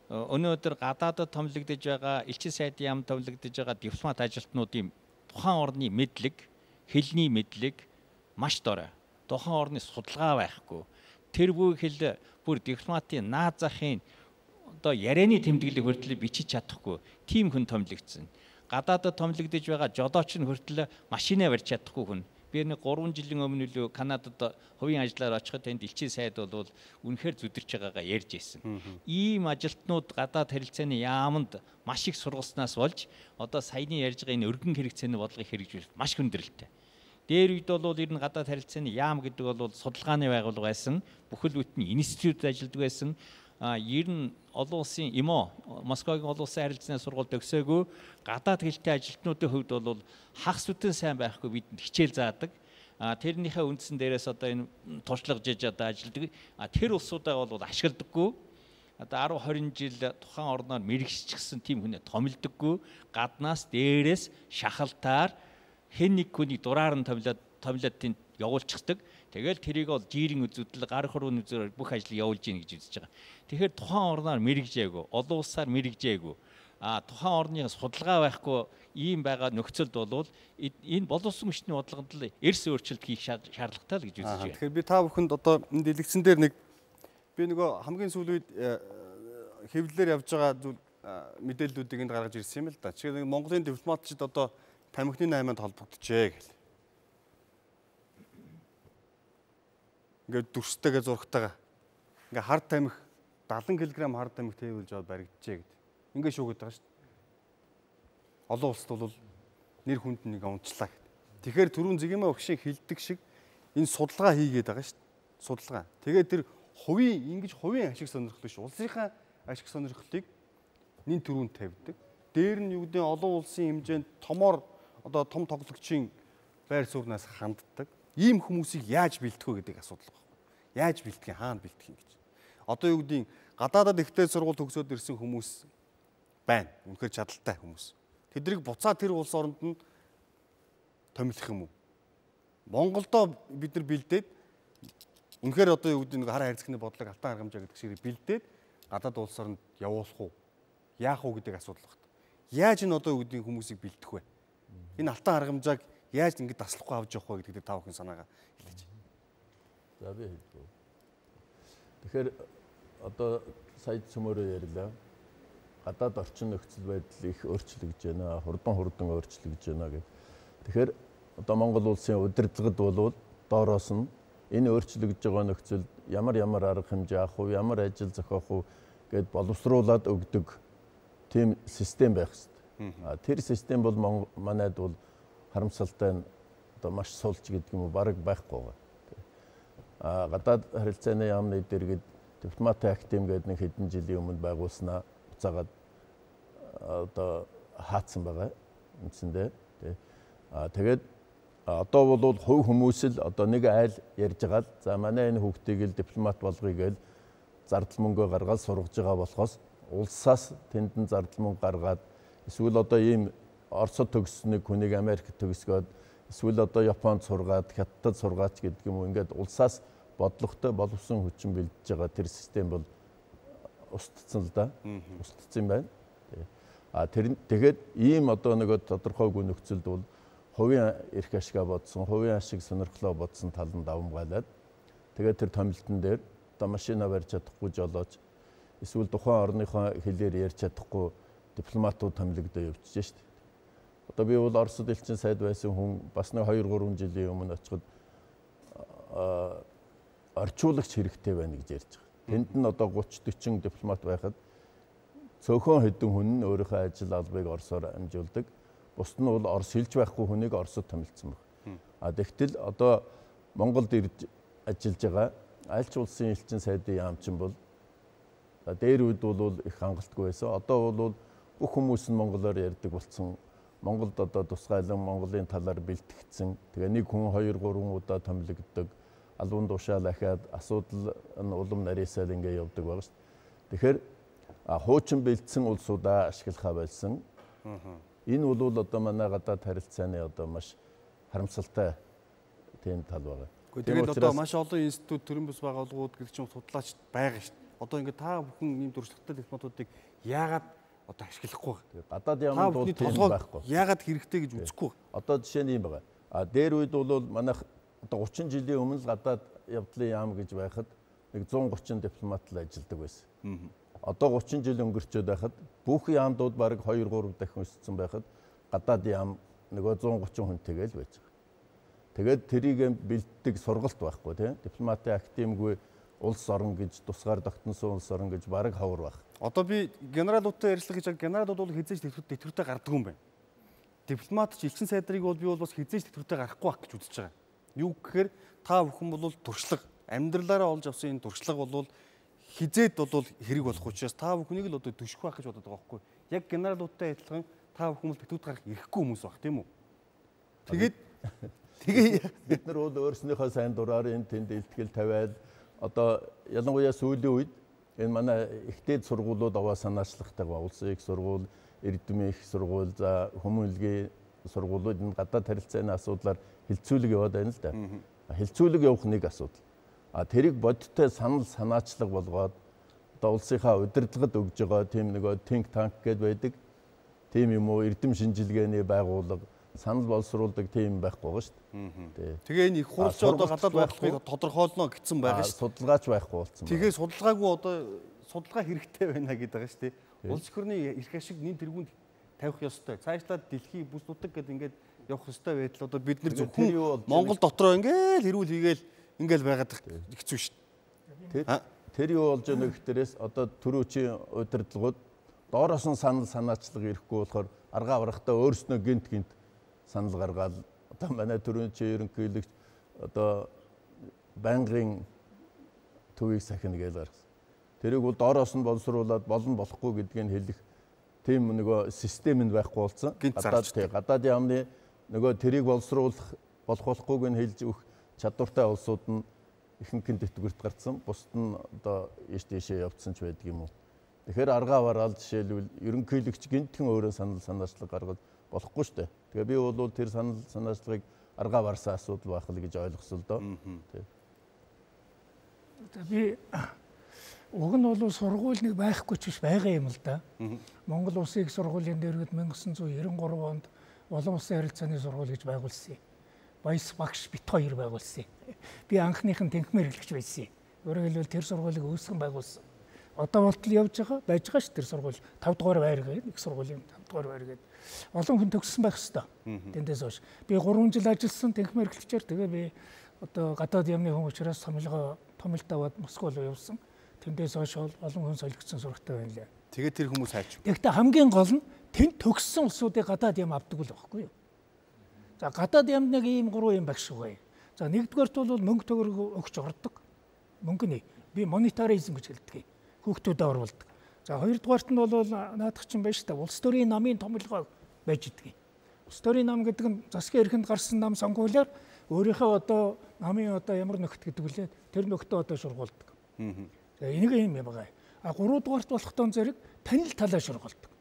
өнөөдөр гадаадд томилогдож байгаа элчин сайдын яамд томилогдож байгаа дипломат ажилтнуудын тухайн орны мэдлэг, хэлний мэдлэг маш дорой. Тухайн орны судалгаа байхгүй. Тэр бүхэл бүр дипломатын наад захын одоо ярианы тэмдэглэг хүртэл бичиж чадахгүй. Тим хүн томилогдсон. Гадаадд томилогдож байгаа жолооч нь хүртэл машинаа барьж чадахгүй хүн. Би нэг 3 жилийн өмнө л Канадад хувийн ажиллаар очиход тэнд элчин сайд бол үнэхээр зүдэрч байгаагаа ярьж ирсэн. Ийм ажилтнууд гадаад харилцааны яамд маш их сургалснаас болж одоо саяны ярьж байгаа энэ өргөн хэрэгцээний бодлогыг хэрэгжүүлэх маш хүндрэлтэй. Дээр үед бол ер нь гадаад харилцааны яам гэдэг бол судалгааны байгууллага байсан. Бүхэл бүтэн институт ажилладаг байсан. Ер нь олон улсын ИМО, Москвагийн олон улсын харилцааны сургууль төгсөөгүй гадаад хэлтэй ажилтнуудын хувьд бол хагас бүтэн сайн байхгүй бидэнд хичээл заадаг. тэрнийхээ үндсэн дээрээс одоо энэ туршлагаж одоо ажилдаг. Тэр улсуудаа бол ашигладаггүй. Одоо 10 20 жил тухайн орноор мэрэгшчихсэн тийм хүнээ томилдоггүй. Гаднаас дээрээс шахалтаар хэн нэг хүнийг дураар нь томилоод тэнд явуулчихдаг. Тэгэл тэрийг бол жирийн үзүүтэл гар хурууны үзүүрээр бүх ажил явуулж гин гэж үзэж байгаа. Тэгэхээр тухайн орноор мэрэгжээгүй, олон улсаар мэрэгжээгүй. Тухайн орны судалгаа байхгүй ийм байгаа нөхцөлд болвол энэ боловсон хүчний бодлогод л эрс өөрчлөлт хийх шаардлагатай л гэж үзэж байна. Тэгэхээр би та бүхэнд одоо энэ дэлгэцэн дээр би нөгөө хамгийн сүүлийн үед хэвлэлээр явж байгаа зүйл мэдээллүүдийг энд гаргаж ирсэн юм л да. Жишээ нь Монголын дипломатчид одоо тамхины 8-нд холбогдчихэ гэл. Ингээд дүрстэйгээ зургатайгаа. Ингээ хар тамхи 70 кг хар тамхи тээвэрлж аваад баригдчихэ гэдэг. Ингээ шүүгээд байгаа шүү дээ. Олон улсад бол нэр хүнд нэг унчлаа гэдэг. Тэгэхээр түрүүн Зэгмээ өгшийн хилдэг шиг энэ судалгаа хийгээд байгаа шүү дээ. Судалгаа. Тэгээд тэр хувийн ашиг сонирхол биш. Улсынхаа ашиг сонирхлыг нэн түрүүнд тавьдаг. Дээр нь юу гэдэг олон улсын хэмжээнд томоор одоо том тоглогчийн байр сууриас ханддаг. Ийм хүмүүсийг яаж бэлтгэх вэ гэдэг асуудал байна. Яаж бэлтгэх, хаана бэлтгэх юм гэж. Одоо юу гэдэг гадаадад ихтэй сургууль төгсөөд ирсэн хүмүүс байна. Үнэхээр чадaltaй хүмүүс. Тэднийг буцаад тэр улс оронд нь томилох юм уу? Монголдоо бид нар бэлдээд үнэхээр одоо юу гэдэг хар хайрцагны бодлого алтан аргамжаа гэдэг шиг бэлдээд гадаад улс оронд явуулах уу? Яах уу гэдэг асуудал байна. Яаж энэ одоо юу гэдэг хүмүүсийг бэлдэх вэ? Энэ алтан аргамжааг яаж ингэж таслахгүй авч явах вэ гэдэг та бүхэн санаагаа хэлээч. За би хэлбүү. Тэгэхээр одоо сая цөмөрөө ярьлаа. Гадаад орчин нөхцөл байдал их өөрчлөгдөж байна. Хурдан өөрчлөгдөж байна гэх. Тэгэхээр одоо Монгол улсын удирдлагад болвол доороос нь энэ өөрчлөгдөж байгаа нөхцөлд ямар арга хэмжээ авах уу, ямар ажил зохиох уу гэд боловсруулад өгдөг тийм систем байх хэрэгтэй. Тэр систем бол манайд бол харамсалтай одоо маш сулж гэдэг юм уу бараг байхгүй байгаа. Гадаад харилцааны яамны дэргэд дипломатын академи гэдэг нэг хэдэн жилийн өмнө байгуулснаа буцаагаад одоо хаацсан байгаа үндсэндээ. Тэгээд одоо бол хувь хүмүүс л одоо нэг айл ярьж байгаа л за манай энэ хүүхдийг л дипломат болгоё гэж зардал мөнгө гаргаад сургаж байгаа болохоос улсаас тэндэн зардал мөнгө гаргаад эсвэл одоо ийм Оросд төгссөнийг хүнийг Америкт төгсгөөд эсвэл одоо Японд сургаад Хятадд сургаач гэдэг юм уу ингээд улсаас бодлоготой боловсон хүчин бэлдэж байгаа тэр систем бол устдсан л да. Устдсан байна. Тэгээд ийм одоо нэг тодорхойгүй нөхцөлд бол хувийн эрх ашигаа бодсон, хувийн ашиг сонирхлоо бодсон талд давмгайлаад тэгээд тэр томилтон дээр одоо машина барьж чадахгүй жолооч эсвэл тухайн орныхоо хэлээр ярьж чадахгүй дипломатууд томилогдоо явчихжээ шүү дээ. Одоо би бол Оросд элчин сайд байсан хүн бас нэг 2-3 жилийн өмнө очиход орчуулагч хэрэгтэй байна гэж ярьж байгаа. Тэнд нь одоо 30-40 дипломат байхад цөөхөн хэдэн хүн нь өөрийнхөө ажил албыг Оросоор амжуулдаг. Бусд нь бол Орос хэлж байхгүй хүнийг Оросод томилсон байна. Тэгтэл одоо Монголд ирж ажиллаж байгаа аль ч улсын элчин сайдын яамчин бол дээр үед бол их хангалтгүй байсан. Одоо бол бүх хүмүүс нь монголоор ярьдаг болсон. Монголд одоо тусгайлан Монголын талаар бэлтгэгдсэн. Тэгээ нэг хүн 2-3 удаа томилогддог. Албан тушаал ахаад асуудал нь улам нарийсаал ингэ явдаг байгаа шүү дээ. Тэгэхээр хуучин бэлдсэн улсуудаа ашиглахаа байсан. Энэ бол одоо манай гадаад харилцааны одоо маш харамсалтай тийм тал байгаа. Тэгээд одоо маш олон институт төрийн бас байгууллагууд гэх чинь судлаач байгаа шүү дээ. Одоо ингэ та бүхэн ийм туршлагатай дипломатуудыг яагаад одоо ашиглахгүй байна? Гадаад яамд бол тийм байхгүй. Яагаад хэрэгтэй гэж үзэхгүй байна? Одоо жишээ нь юм байгаа. Дээр үед бол манайх одоо 30 жилийн өмнө л гадаад явдлын яам гэж байхад нэг 130 дипломат л ажилладаг байсан. Одоо 30 жил өнгөрчөөд байхад бүх яамдууд бараг 2-3 дахин өссөн байхад гадаад яам нөгөө 130 хүнтэйгээ л байж байгаа. Тэгээд тэрийг бэлддэг сургалт байхгүй тийм дипломатын академигүй улс орон гэж тусгаар тогтносон улс орон гэж бараг ховор байх. Одоо би генералуудтай ярилцлага хийж байгаа генералууд бол хизээж тэтгэвртэй гардаг юм байна. Дипломат ч элчин сайдрыг бол би бол бас хизээж тэтгэвртэй гарахгүй байх гэж үзэж байгаа. Юу гэхээр та бүхэн бол туршлага амьдралаараа олж авсан энэ туршлага бол хизээд бол хэрэг болох учраас та бүхнийг л одоо төшөх байх гэж бодоод байгаа байхгүй. Яг генералуудтай адилхан та бүхэн бол тэтгэврт гарах ирэхгүй хүмүүс баг тийм үү? Тэгээд Тэгээ бид нар бол өөрснийхөө сайн дураар энэ тэнд илтгэл тавиад одоо ялангуяа сүүлийн үед энэ манай ихтэй сургуулиуд аваа санаачлахтайгаа улсын их сургууль, Эрдэмийн их сургууль, за хүмүүнлэгийн сургуулиуд энэ гадаад харилцааны асуудлаар хилцүүлэг яваад байна л да. Хилцүүлэг явах нэг асуудал. Тэрийг бодиттой санал санаачлага болгоод одоо улсынхаа удирдлагад өгж байгаа тийм нөгөө think tank гэдээ байдаг. Тийм юм уу эрдэм шинжилгээний байгууллага санал боловсруулдаг тийм байхгүй байгаа шүү дээ. Тэгээ энэ их хурлч одоо гадаад байхыг тодорхойлно гэсэн байгаа шүү. Судалгаач байхгүй болсон. Тэгээ судалгаагүй одоо судалгаа хэрэгтэй байна гэдэг байгаа шүү дээ. Улс орны эрх ашиг нэн тэргуунд тавих ёстой. Цаашлаад дэлхийн бүс нутаг гэдэг ингээд явах ёстой байтал одоо бид нар зөвхөн Монгол дотроо ингээд эрүүл хийгээл ингээд байгаад хэцүү шүү дээ. Тэр юу болж байгаа гэхээрээс одоо төрөөчийн удирдлагууд доороос нь санал санаачлага ирэхгүй болохоор аргаа аврахтаа өөрснөө гинт санал гаргаад одоо манай төрөөчийн ерөнхийлөгч одоо байнгын төвийг сахина гэж гаргасан. Тэрийг бол доороос нь боловсруулад болно болохгүй гэдгийг хэлэх тийм нөгөө системэнд байхгүй болсон. Гадаад яамны нөгөө тэрийг боловсруулах болохгүйг нь хэлж өгөх чадвартай улсууд нь ихэнх тэтгэврт гарцсан. Бусд нь одоо ийшээ явцсан ч байдаг юм уу. Тэгэхээр аргаа аваад жишээлбэл ерөнхийлөгч гинтхэн өөрөө санал санаачлага гаргаж болохгүй шүү дээ. Тэгээ би бол тэр санал санаачлагыг аргаа барсан асуудал байх л гэж ойлгосон л доо. Би уг нь бол сургууль нэг байхгүй ч биш байгаа юм л да. Монгол Улсын их сургуулийн дээргэд 1993 онд олон улсын харилцааны сургууль гэж байгуулсан. Баяс багш бит хоёр байгуулсан. Би анхных нь тэнхмээр хэлэгч байсан. Өөрөөр хэлбэл тэр сургуулийг үүсгэн байгуулсан. Одоо болтол явж байгаа байж байгаа ш тэр сургууль 5 дугаар байр гэдэг их сургуулийн 5 дугаар байр гэдэг. Олон хүн төгссөн байх хэвээр. Тэндээс хойш би 3 жил ажилласан тэнхмээр хэлэгчээр тэгээ би одоо гадаад яамны хүн учраас томилт аваад Москва руу явсан. Тэндээс хойш олон хүн солигдсон сурагтай байна лээ. Тэгээ тэр хүмүүс хайч. Тэгэхдээ хамгийн гол нь тэнд төгссөн улсуудыг гадаад яам авдаг л байхгүй юу? За гадаад яамд нэг ийм 3 юм багш байгаа. За нэгдүгээрт бол мөнгө төгрөг өгч ордог. Мөнгөний би монетаризм гэж хэлдэг. Хүүхдүүдэд оруулдаг. За хоёрдугаарт нь бол наадах чинь байж та улс төрийн намын томилгоо байж идэг. Улс төрийн нам гэдэг нь засгийн эрхэнд гарсан нам сонгуулиар өөрийнхөө одоо намын одоо ямар нөхд гэдэг үлээ тэр нөхдөө одоо шургуулдаг. За энийг юм байгаа. Гуравдугаарт болохтон зэрэг танил талаа шургуулдаг.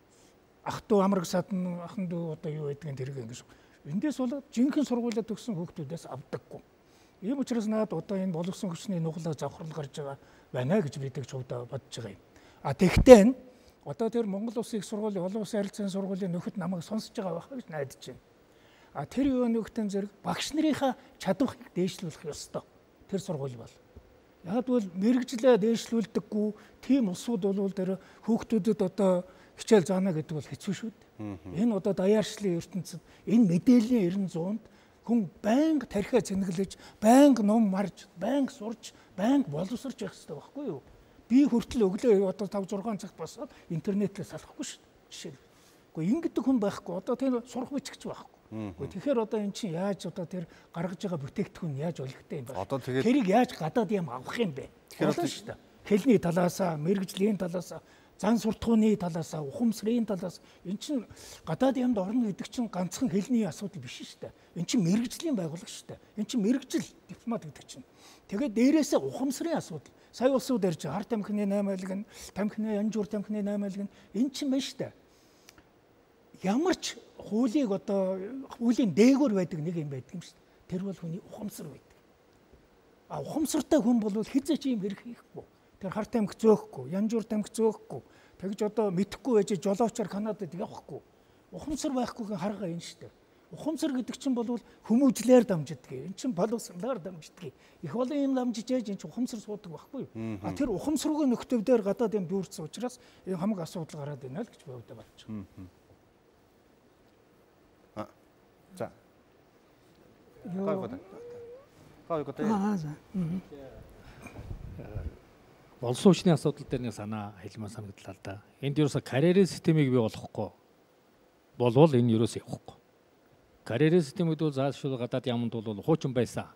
Ах トゥ амраг садан ахан дүү одоо юу байдгийг тэрэг ингэж. Эндээс бол жинхэнэ сургуулиуд төгссөн хүүхдүүдээс авдаггүй. Ийм учраас надад одоо энэ боловсон хүчний нуглаа завхрал гарч байгаа байна гэж бид чувдаа бодож байгаа юм. Тэгтээ одоо тэр Монгол Улсын их сургуулийн олон улсын харилцааны сургуулийн нөхөд намайг сонсож байгаа байх гэж найдаж байна. Тэр юу нөхтөн зэрэг багш нарынхаа чадварыг дээшлүүлэх ёстой. Тэр сургууль бол. Яг бол мэрэгжлээ дээшлүүлдэггүй тийм улсууд бол тэр хүүхдүүдэд одоо хичээл заана гэдэг бол хэцүү шүү дээ. Энэ одоо даяаршлын ертөнцид энэ мэдээллийн 90-100-д хүн байнга тархиа цэнэглэж, байнга ном марж, байнга сурж, байнга боловсрч явах хэрэгтэй байхгүй юу? Би хүртэл өглөө одоо 5-6 цагт босоод интернетлээ салахгүй шүү дээ. Жишээ нь. Гэхдээ ингэдэг хүн байхгүй. Одоо тэр сурах бичгч байхгүй. Тэгэхээр одоо эн чинь яаж одоо тэр гаргаж байгаа бүтээгдэхүүн яаж олигтой юм бэ? Тэрийг яаж гадаад юм авах юм бэ? Тэгэхээр шүү дээ. Хэлний талаасаа, мэрэгжлийн талаасаа, зан суртахууны талаасаа, ухамсарын талаас эн чинь гадаад ямд орно гэдэг чинь ганцхан хэлний асуудал биш шүү дээ. Эн чинь мэрэгжлийн байгууллага шүү дээ. Эн чинь мэрэгжил дипломат гэдэг чинь. Тэгээд дээрээсээ ухамсарын асуудал. Сая улсууд ярьж хар тамхины 8 айлг нь, тамхины янжуур тамхины 8 айлг нь эн чинь байна шүү дээ. Ямар ч хуулийг одоо хуулийн дээгүүр байдаг нэг юм байдаг юм шүү дээ. Тэр бол хүний ухамсар байдаг. Ухамсартай хүн бол хизээч юм хэрэг хийхгүй. Тэр хар тамхи зөөхгүй, янжуур тамхи зөөхгүй. Тэгж одоо мэдхгүй байж жолоочоор Канадад явахгүй. Ухамсар байхгүйг харгаа энэ шүү дээ. Ухамсар гэдэг чинь бол хүмүүжлээр дамждаг. Энэ чинь боловсролоор дамждаг. Их олон юм дамжиж яаж энэ чинь ухамсар суудаг байхгүй юу? Тэр ухамсаргүй нөхцөлдөр гадаад юм дүүрсэн учраас энэ хамаг асуудал гараад байна л гэж би бодож байна. За. Болсон хүчний асуудал дээр нэг санаа хэлмээр санагдлаа л да. Энд ерөөсө карьерийн системийг бий болгохгүй болвол энэ ерөөсө явахгүй. Карьерийн системүүд бол заашгүй гадаад яманд бол хуучин байсан.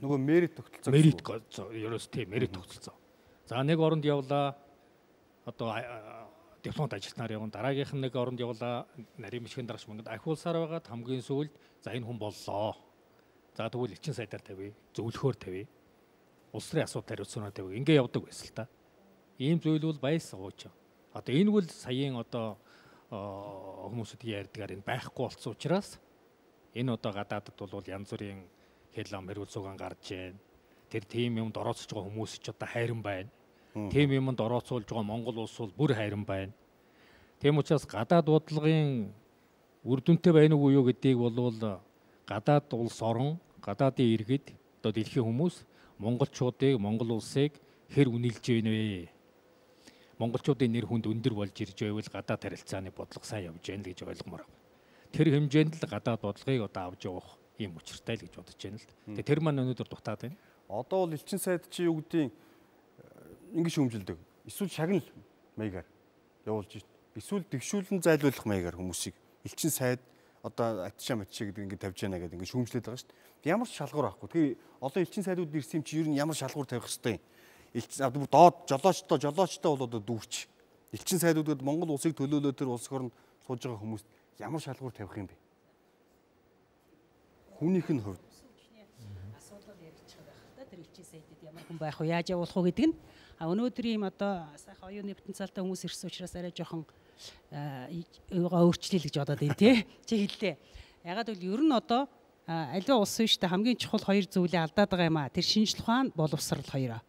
Нөгөө мерит тогтолцоо. Мерит ерөөсө тийм мерит тогтолцоо. За нэг оронд явлаа. Одоо дипломат ажилтнаар явна. Дараагийнх нь нэг оронд явлаа. Нарийн бичгийн дараач мөнгөд ахиулсаар байгаад хамгийн сүүлд за энэ хүн боллоо. За тэгвэл элчин сайдаар тавья, зөвлөхөөр тавья. Улс төрийн асуудал хариуцлагаа тавья. Ингээ явдаг байсан л та. Ийм зүйл бол байс сууч. Одоо энэ бол саяын одоо хүмүүсүүдийн ярьдгаар энэ байхгүй болсон учраас энэ одоо гадаадд бол янз бүрийн хэл ам хариуц сугаан гарч байна. Тэр тийм юмд орооцож байгаа хүмүүс ч одоо хайран байна. Тийм юмд орооцуулж байгаа Монгол улс бол бүр хайран байна. Тийм учраас гадаад бодлогын үр дүнтэй байна уу юу гэдгийг бол гадаад улс орон, гадаадын иргэд одоо дэлхийн хүмүүс монголчуудыг, Монгол улсыг хэр үнэлж байна вэ? Монголчуудын нэр хүнд өндөр болж ирж байвал гадаад харилцааны бодлого сайн явж байна л гэж ойлгомоор байна. Тэр хэмжээнд л гадаад бодлогыг одоо авч явах юм учиртай л гэж бодож байна л. Тэгээ тэр маань өнөөдөр дутаад байна. Одоо бол элчин сайд чи юу гэдгийг ингэж хэмжилдэг. Эсвэл шагнал маягаар явуулж шít. Эсвэл дэвшүүлэн зайлуулах маягаар хүмүүсийг элчин сайд одоо атшаа матшаа гэдэг ингэ тавьж яана гэдэг ингэ шүүмжлээд байгаа шүү дээ. Ямар ч шалгуур авахгүй. Тэгээ олон элчин сайдууд ирсэн юм чи ер нь ямар шалгуур тавих хэвтэй. Элчин доод жолоочтой бол одоо дүүрч. Элчин сайдуудад Монгол улсыг төлөөлөө тэр улс орнд сууж байгаа хүмүүст ямар шалгуур тавих юм бэ? Хүнийх нь хувьд асуудал яригдчих байх л да. Тэр элчин сайдад ямар хүн байх вэ? Яаж явуулах вэ гэдэг нь. Өнөөдөр ийм одоо сайхан оюуны потенциалтай хүмүүс ирсэн учраас арай жоохон өөрчлөлий гэж бодоод байна тий. Чи хэллээ. Ягаад гэвэл ер нь одоо аливаа улсын штэ хамгийн чухал хоёр зүйлээ алдаад байгаа юм а. Тэр шинжлэх ухаан, боловсрал хоёроо.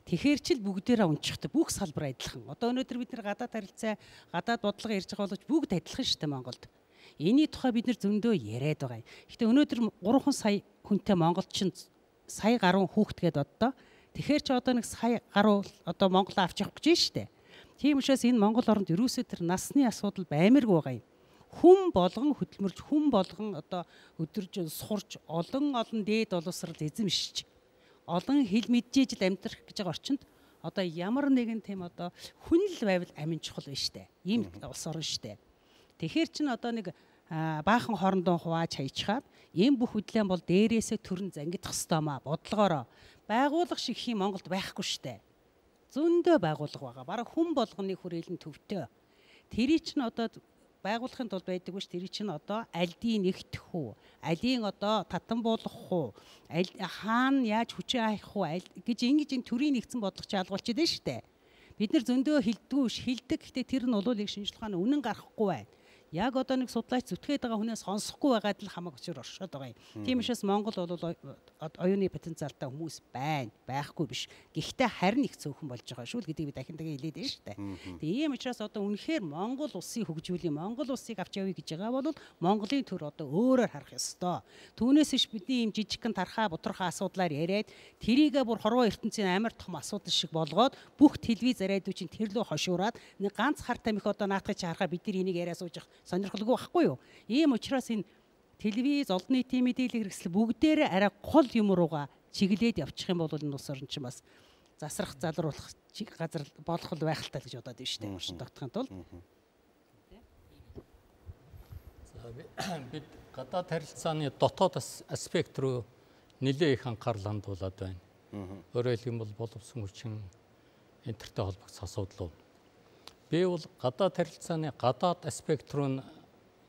Тэгэхээр ч л бүгдээрээ унчихдаг. Бүх салбар адилхан. Одоо өнөөдөр бид нар гадаад харилцаа, гадаад бодлого ярьж байгаа боловч бүгд адилхан штэ Монголд. Эний тухай бид нар зөндөө яриад байгаа юм. Гэхдээ өнөөдөр 3 сая хүнтэй монголчин сая гаруй хүүхдгээд одоо тэгэхээр ч одоо нэг сая гаруй одоо Монгол авч явах гэж байна штэ. Тийм учраас энэ Монгол оронд ерөөсөө тэр насны асуудал баймирг байгаа юм. Хүн болгон хөдөлмөрч, хүн болгон одоо өдөрж сухарч, олон дээд боловсрал эзэмшиж, олон хэл мэджээж л амьдрах гэж байгаа орчинд одоо ямар нэгэн тийм одоо хүнл байвал амин чухал байна штэ. Ийм улс орн штэ. Тэгэхээр чин одоо нэг баахан хоорондоо хувааж хайчхаад ийм бүх хөдлөм бол дээрээсээ төрн зангидах хэвээр маа бодлогоороо байгууллага шиг хэм Монголд байхгүй штэ. Зөндөө байгууллага байгаа. Бараг хүн болгоны хүрээлэн төвтэй. Тэрий чинь одоо байгуулахын тулд байдаг биш. Тэрий чинь одоо альдийн нэгтгэх үү? Алийн одоо татан буулгах уу? Хаана яаж хүчээ хаях уу? Гэж ингэж энэ төрийн нэгдсэн бодлого чаалгуулчихэд байна штэ. Бид нар зөндөө хилдэг. Гэхдээ тэр нь улуулыг шинжлэх ухааны үнэн гаргахгүй байна. Яг одоо нэг судлаач зүтгээд байгаа хүнээс сонсохгүй байгаад л хамаг өчөр оршоод байгаа юм. Тийм учраас Монгол бол оюуны потенциалтай хүмүүс байхгүй биш. Гэхдээ харин их цөөхөн болж байгаа шүү л гэдгийг би дахин хэлээд байна шүү дээ. Тэгээ ийм учраас одоо үнэхээр Монгол улсыг хөгжүүлэх, Монгол улсыг авч явъя гэж байгаа бол Монголын төр одоо өөрөөр харах ёстой. Түүнээс иш бидний ийм жижигхэн тархаа бутархаа асуудлаар яриад тэрийгээ бүр хорвоо ертөнцийн амар том асуудал шиг болгоод бүх телевиз радиочийн тэр лөө хошуураад нэг ганц хар тамхи одоо наадахыг харахаар бид нар энийг яриа сууж сонирхолгүй байхгүй юу? Ийм учраас энэ телевиз, олон нийтийн мэдээлэл хэрэгсэл бүгдээрээ арай гол юм руугаа чиглээд явчих юм бол энэ улс орн чинь бас засрах, залруулах газар болох л байх л таа гэж бодоод байна шүү дээ. Орчин тогтохын тулд. За бид гадаад харилцааны дотоод аспект руу нэлээд их анхаарал хандуулад байна. Өөрөөр хэлбэл боловсон хүчин энтертэй холбогдсон асуудал. Би бол гадаад харилцааны гадаад аспект руу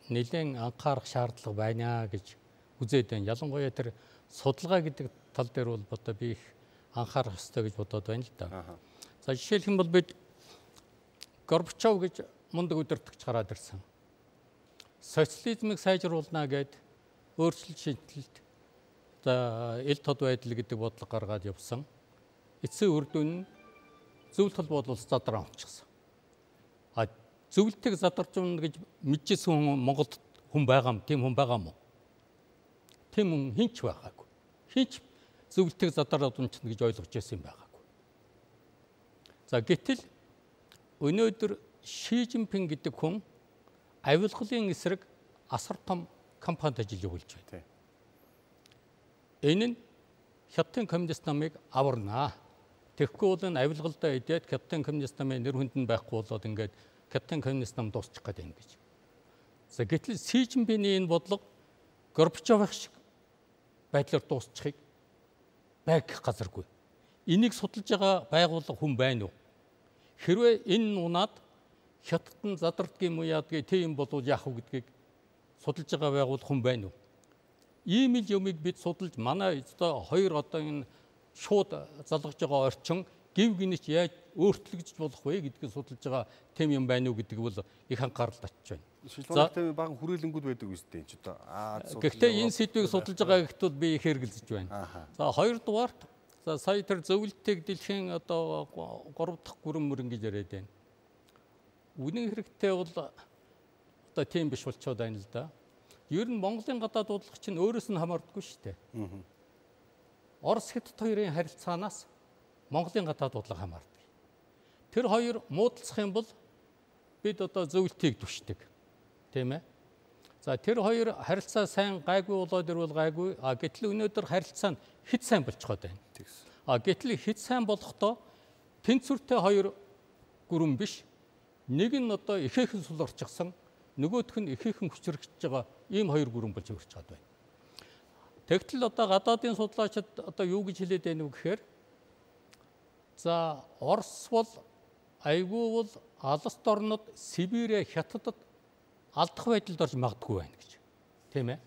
нэлээд анхаарах шаардлага байна гэж үзээд байна. Ялангуяа тэр судалгаа гэдэг тал дээр бол одоо би их анхаарах ёстой гэж бодоод байна л да. За жишээлх юм бол бид Горбачов гэж мундаг удирдагч гараад ирсэн. Социализмыг сайжруулна гэд өөрчлөлт шинжилэлт одоо ил тод байдал гэдэг бодлого гаргаад явсан. Эцсийн үр дүн нь зөвлөлт боловс задраа онцгсон. Зөвлөлтийг задарч унна гэж мэдчихсэн хүн Монголд хүн байгаа юм. Тийм хүн байгаа мó? Тийм хүн хинч байгаагүй. Хинч зөвлөлтийг задараад унчна гэж ойлгож байсан юм байгаагүй. За гэтэл өнөөдөр Ши Жинпин гэдэг хүн авилгалын эсрэг асар том кампанид ажиллаж байна. Энэ нь Хятадын коммунист намыг аварнаа. Тэгэхгүй бол энэ авилгалдаа идээд Хятадын коммунист намын нэр хүнд нь байхгүй болоод ингээд Хятадын коммунист нам дуусчих гээд байна гэж. За гэтэл Ши Жинпиний энэ бодлого Горбачовын шиг байдлаар дуусчихыг байх газаргүй. Энийг судалж байгаа байгууллага хүн байна уу? Хэрвээ энэ унаад Хятадд нь задардгийн юм уу яадгийг тийм болов яах вэ гэдгийг судалж байгаа байгууллага хүн байна уу? ийм л юмыг бид судалж манай одоо хоёр одоо энэ шууд залгаж байгаа орчин гів гинэж яаж өөрчлөгдөж болох вэ гэдгийг судалж байгаа тэм юм байна уу гэдэг бол их анхаарал татж байна. Шилбэгтэй баган хүрээлэнгүүд байдаг үстэй энэ ч одоо гэхдээ энэ сэдвийг судалж байгаа гэхдээ би их хэрэгэлзэж байна. За хоёрдугаарт за сая тэр зөвлөлтийг дэлхийн одоо 3 дахь гүрэн мөр ингэж яриад байна. Үнэн хэрэгтээ бол одоо тийм биш болчиход байна л да. Ер нь Монголын гадаад бодлого чинь өөрөөс нь хамаардаггүй шүү дээ. Орос Хятад хоёрын харилцаанаас Монголын гадаад бодлого хамаардаг. Тэр хоёр муудалцах юм бол бид одоо зөвлөлтийг түшдэг. Тийм ээ. За тэр хоёр харилцаа сайн гайгүй болоод ирвэл гайгүй. Гэтэл өнөөдөр харилцаа нь хэд сайн болчиход байна. Гэтэл хэд сайн болохдоо тэнцвэртэй хоёр гүрэн биш. Нэг нь одоо ихээхэн сул орчихсан, нөгөөх нь ихээхэн хүчрэгдэж байгаа ийм хоёр гүрэн болж өрч чад байна. Тэгтэл одоо гадаадын судлаачид одоо юу гэж хэлээд байна вэ гэхээр за Орос бол айгүй бол алс орнод Сибирэ Хятадд алдах байдалд орж магадгүй байна гэж. Тийм ээ.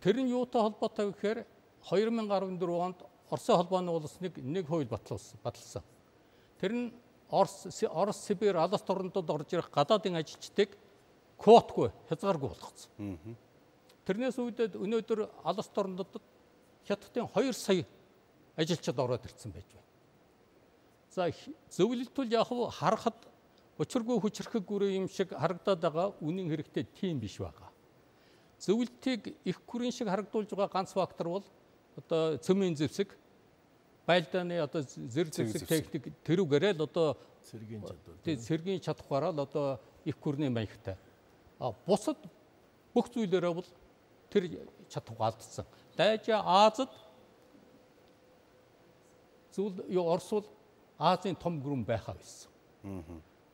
Тэр нь юутай холбоотой вэ гэхээр 2014 онд Оросын холбооны улс нэг хууль баталсан. Тэр нь Орос Сибирь алс орнодод орж ирэх гадаадын ажилчдыг квотгүй хязгааргүй болгоцсон. Тэрнээс үүдээд өнөөдөр алс орнодод Хятадын 2 сая ажилчид ороод ирсэн байж байна. За зөвлөлтөл яг харахад учиргүй хүчрхэг гүрэн юм шиг харагдаад байгаа үнэн хэрэгтээ тийм биш байгаа. Зөвлөлтийг их гүрэн шиг харагдуулж байгаа ганц фактор бол одоо цөмийн зэвсэг, байлдааны одоо зэр зэвсэг техник тэрүүгээрээ л одоо сэргийн чадхаараа л одоо их гүрний маягтай. Бусад бүх зүйлээрээ бол тэр чадхаа алдсан. Дайжа Азад Орос бол Азийн том гүрэн байхаа байсан.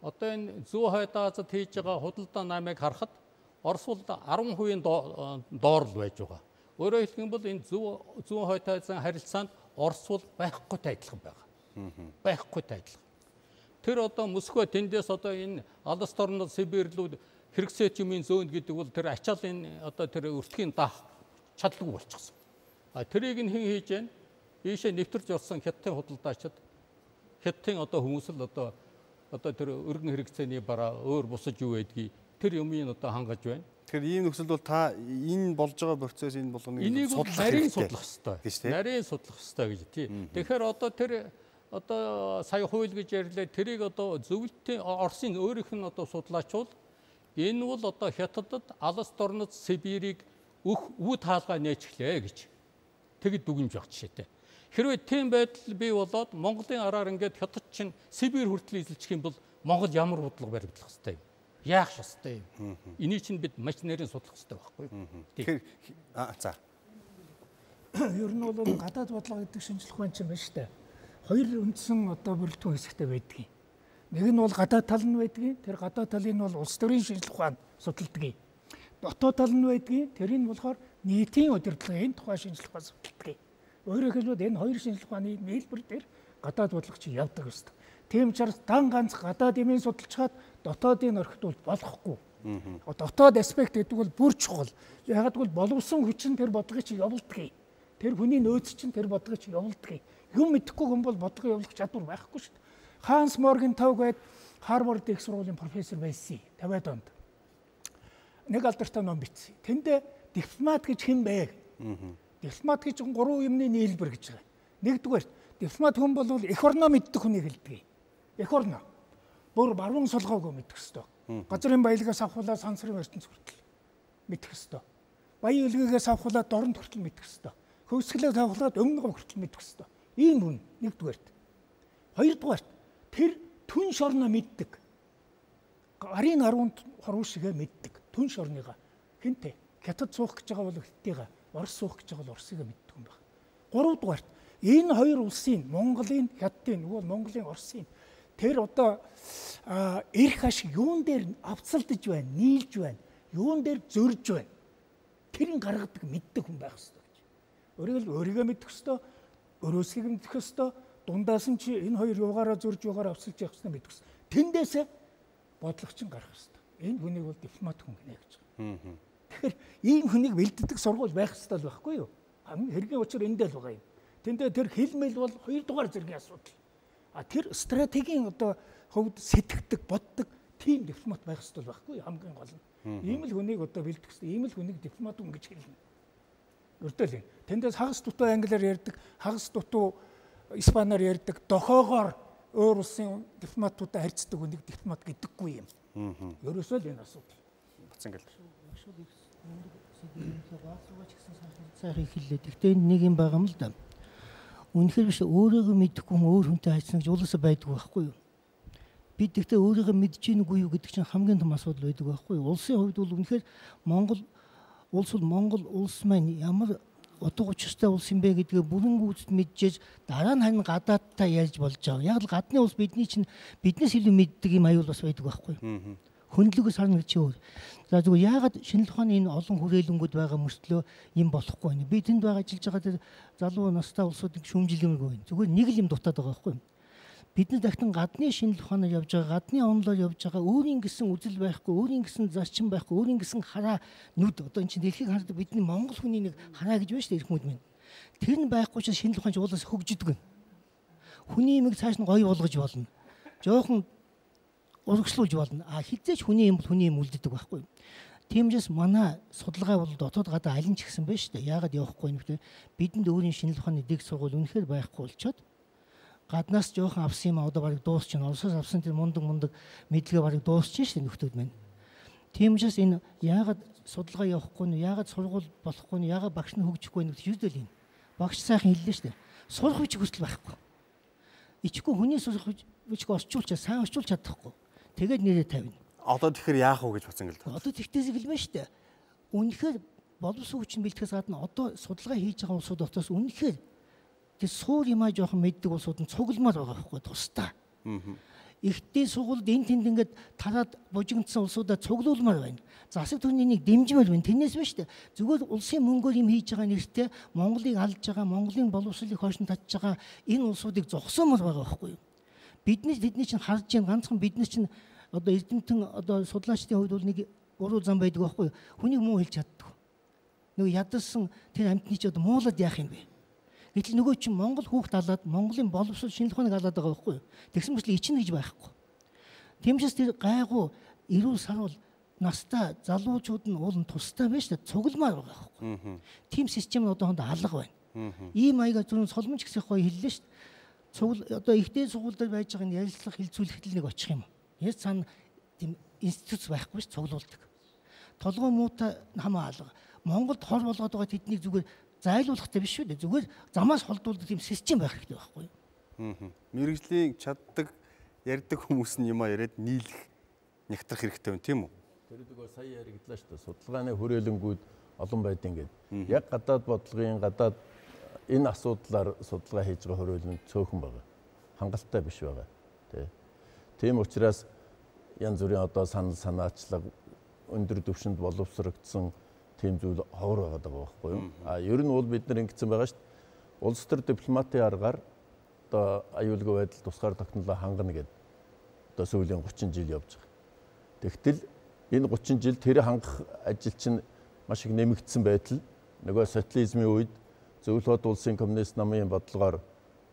Одоо энэ зүү хойд Азад хийж байгаа худалдаа намыг харахад Орос бол 10% доор л байж байгаа. Өөрөөр хэлэх юм бол энэ зүү хойд Азийн харилцаанд Орос бол байхгүйтэй адилхан байгаа. Байхгүйтэй адилхан. Тэр одоо Москва тэндээс одоо энэ алс орнод Сибирь-лүүд хэрэгсээч юмын зөөнд гэдэг бол тэр ачаалын одоо тэр өртгийн даах чадлагүй болчихсон. Тэрийг нь хэн хийж байна? Ийшээ нэвтэрч орсон Хятадын худалдаачид Хятадын одоо хүмүүс л одоо тэр өргөн хэрэгцээний бараа өөр бусаж юу байдгийг тэр юмыг одоо хангаж байна. Тэгэхээр ийм нөхцөлд бол та энэ болж байгаа процесс энэ болгоныг нарийн судлах хэрэгтэй. Нарийн судлах хэрэгтэй гэж тий. Тэгэхээр одоо тэр одоо сая хууль гэж ярьлаа тэрийг одоо зөвлөлтийн Оросын өөрийнх нь одоо судлаачвал энэ бол одоо Хятадд алс орнод Сибирийг үд хаалгаа нээчихлээ гэж тэгэд дүгнж байгаа жишээтэй. Хэрвээ тийм байдал бий болоод Монголын араар ингээд Хятад чинь Сибирь хүртэл эзэлчих юм бол Монгол ямар бодлого баригдах хэвтэй юм? Яах хэвтэй юм? Энийг чинь бид маш нэрийн судлах хэвтэй байхгүй юу? Тэгэхээр за. Ер нь бол гадаад бодлого гэдэг шинжлэх ухаан чинь байна шүү дээ. Хоёр үндсэн одоо бүрэлдэхүүн хэсэгтэй байдгийг. Нэг нь бол гадаад тал нь байдгийг. Тэр гадаад талын бол улс төрийн шинжлэх ухаан судалдаг. Дотоод тал нь байдгийг. Тэрийг болохоор нийтийн удирдлагын тухай шинжлэх ухаан судалдаг. Өөрөөр хэлбэл энэ хоёр шинжлэх ухааны нийлбэр дээр гадаад бодлого чинь явдаг ёстой. Тийм учраас дан ганц гадаад юмыг судалж чад дотоодыг орхитуул болохгүй. Дотоод аспект гэдэг бол бүр чухал. Яг гэвэл боловсон хүч нь тэр бодлогыг чинь явуулдаг. Тэр хүний нөөц чинь тэр бодлогыг чинь явуулдаг. Юм мэдэхгүй хүн бол бодлого явуулах чадвар байхгүй шүү дээ. Ханс Моргентау гээд Харвард их сургуулийн профессор байсан 50-аад онд. Нэг алдартай ном бичсэн. Тэндээ дипломат гэж хэн бэ? Дипломат гэж 3 юмны нийлбэр гэж байгаа. Нэгдүгээр дипломат хүн бол эх орноо мэддэг хүнийг хэлдэг. Эх орноо. Бүр баруун солгоог мэддэг ёстой. Газрын баялагаас авахулаа сансрын ертөнц хүртэл мэддэг ёстой. Баян үлгээс авахулаа дорнод хүртэл мэддэг ёстой. Хөвсгөлээс авахулаа өмнө гоо хүртэл мэддэг ёстой. Ийм хүн нэгдүгээрт. Хоёрдугаарт тэр түн шорноо мэддэг. Гарын харуунд хоруу шигээ мэддэг. Түн шорныгаа. Хинтээ? Хятад суух гэж байгаа бол Хятадыгаа, Орос суух гэж байгаа бол Оросыг мэддэг юм байна. Гуравдугаарт энэ хоёр улсын Монголын, Хятадын, нөгөө Монголын, Оросын тэр одоо эрх ашиг юун дээр авцалдаж байна, нийлж байна, юун дээр зөрж байна. Тэрийг гаргадаг мэддэг хүн байх хэрэгтэй гэж. Өөрийгөө мэддэг ёстой, өрөөсгийг мэддэг ёстой, дундаас нь чи энэ хоёр юугаараа зөрж юугаараа авцалж явах ёстой мэддэг ёстой. Тэндээсээ бодлого чинь гарах ёстой. Энэ хүнийг бол дипломат хүн гинэ гэж. Тэгэхээр ийм хүнийг бэлддэг сургууль байх ёстой л байхгүй юу? Хэргийн учир эндээ л байгаа юм. Тэндээ тэр хэлмэл бол 2 дугаар зэргийн асуудал. Тэр стратегийн одоо хувьд сэтгэдэг, боддог тийм дипломат байх ёстой л байхгүй юу? Хамгийн гол нь. Ийм л хүнийг одоо бэлдэх ёстой. Ийм л хүнийг дипломат хүн гэж хэлнэ. Өртөл юм. Тэндээс хагас дутуу англиар ярьдаг, хагас дутуу испаниар ярьдаг, дохоогоор өөр улсын дипломатуудаа харьцдаг хүнийг дипломат гэдэггүй юм. Ерөөсөө л энэ асуудал. Бацангал. Сайхан хэллээ. Гэхдээ нэг юм байгаа юм л да. Үнэхээр биш өөрийгөө мэдхгүй хүн өөр хүнтэй хайцсан гэж улаасаа байдгүй байхгүй юу? Бид гэхдээ өөрийгөө мэдж гингүй юу гэдэг чинь хамгийн том асуудал байдаг байхгүй юу? Улсын хувьд бол үнэхээр Монгол улс маань ямар утга учиртай улс юм бэ гэдгээ бүрэн гүйцэд мэдчихэж дараа нь харин гадаадтай ярьж болж байгаа. Яг л гадны улс биднээс илүү мэддэг юм аюул бас байдаг байхгүй юу? Хөндлөгөөс харна гэж юу. За зүгээр яагаад шинжлэх ухааны энэ олон хүрээлэнгүүд байгаа мөртлөө юм болохгүй байна. Би тэнд байгаа ажиллаж байгаа залуу настай улсуудыг шүүмжилгэмгүй байна. Зүгээр нэг л юм дутаад байгаа байхгүй юу? Бид нар дахин гадны шинжлэх ухаанаар явж байгаа, гадны онлоор явж байгаа, өөрийн гэсэн үзэл байхгүй, өөрийн гэсэн зарчим байхгүй, өөрийн гэсэн хараа нүд одоо энэ чинь дэлхийг хардаг бидний Монгол хүний нэг хараа гэж байна шүү дээ эрхмүүд минь. Тэр нь байхгүй ч шинжлэх ухаанч уулаас хөгждөг. Хүний имийг цааш нь гоё болгож болно. Жохон урагшлуулж болно. Хизээч хүний юм бол хүний юм үлддэг байхгүй. Тиймээс манай судалгаа бол дотоод гадаа аль нь ч гэсэн байна шүү дээ. Яагаад явахгүй юм бэ? Бидэнд өөрийн шинжлэх ухааны дэг сургууль үнэхээр байхгүй болчоод гаднаас жоохон авсан юм одоо барыг дуусчихна. Улсаас авсан тэр мундаг мэдлэгээ барыг дуусчихна шүү дээ нөхдүүд маань. Тиймээс энэ яагаад судалгаа явахгүй нь, яагаад сургууль болохгүй нь, яагаад багш нь хөгжихгүй нь гэж юудэл юм. Багш сайхан хэллээ шүү дээ. Сурах хүч хүсэл байхгүй. Ичгүй хүний сурах хүч орчуулчаа сайн орчуулж чадахгүй. Тэгээд нэрээ тавина. Одоо тэгэхээр яах вэ гэж бацсан гэл. Одоо тэгтээс хэлмэ шүү дээ. Үнэхээр боловсон хүчин бэлтгэхээс гадна одоо судалгаа хийж байгаа улсууд дотроос үнэхээр тэр суур юмаа жоохон мэддэг улсууд нь цугламар байгаа байхгүй тусдаа. Ихтэй сургуульд энэ тэнд ингээд тараад бужигдсан улсуудаа цуглуулмаар байна. Засаг түвшний нэг дэмжмээр байна. Тэрнээс биш үү? Зүгээр улсын мөнгөөр юм хийж байгаа нэртэй Монголыг алж байгаа, Монголын боловсролыг хойш нь татж байгаа энэ улсуудыг зогсоомор байгаа байхгүй юу? Бидний чинь харж байгаа ганцхан бидний чинь одоо эрдэмтэн одоо судлаачдын хувьд бол нэг буруу зам байдаг байхгүй юу? Хүнийг муу хэлж чаддаг. Нөгөө ядарсан тэр амьтны ч одоо муулаад яах юм бэ? Гэтэл нөгөө чинь Монгол хүүхд алаад Монголын боловсрол шинжлэх ухааныг алаад байгаа байхгүй юу? Тэгсэн мэт л ичнэ гэж байхгүй. Тиймээс тэр гайгүй эрүүл сарвал настай залуучууд нь уулын тустай байж та цугламаар байгаа байхгүй. Тим систем нь одоо хонд алга байна. Ийм маягаар зөвхөн соломж гисэх гоё хэллээ шүү дээ. Цугл одоо ихтэй сургуульд байж байгаа нь ярилцлага хилцүүлэхэд нэг очих юм. Яаж цаана тийм институт байхгүй ш цуглуулдаг. Толгой муутай хамаа алга. Монголд хор болгоод байгаа тэднийг зүгээр зайлуулахтай биш шүү дээ. Зүгээр замаас холдуулдаг тийм систем байх хэрэгтэй байхгүй юу? Мэргэжлийн чаддаг, ярьдаг хүмүүс нь юм а яриад нийлэх, нягтрах хэрэгтэй байна тийм үү? Тэр сая яриглаа шүү дээ. Судалгааны хүрээлэнгүүд олон байдیں۔ Яг гадаад бодлогын гадаад энэ асуудлаар судалгаа хийж байгаа хүрээлэнд цөөхөн байгаа. Хангалттай биш байгаа. Тийм учраас янз бүрийн одоо санал санаачлаг өндөр түвшинд боловсрогдсон тийм зүйл ховор байгаа байхгүй юу? Ер нь бол бид нар ингэсэн байгаа шүү дээ. Улс төр дипломатын аргаар одоо аюулгүй байдал тусгаар тогтнолоо хангана гэдэг одоо сүүлийн 30 жил явж байгаа. Тэгтэл энэ 30 жил тэр хангах ажил чинь маш их нэмэгдсэн байтал нөгөө социализмын үед зөвлөлт улсын коммунист намын бодлогоор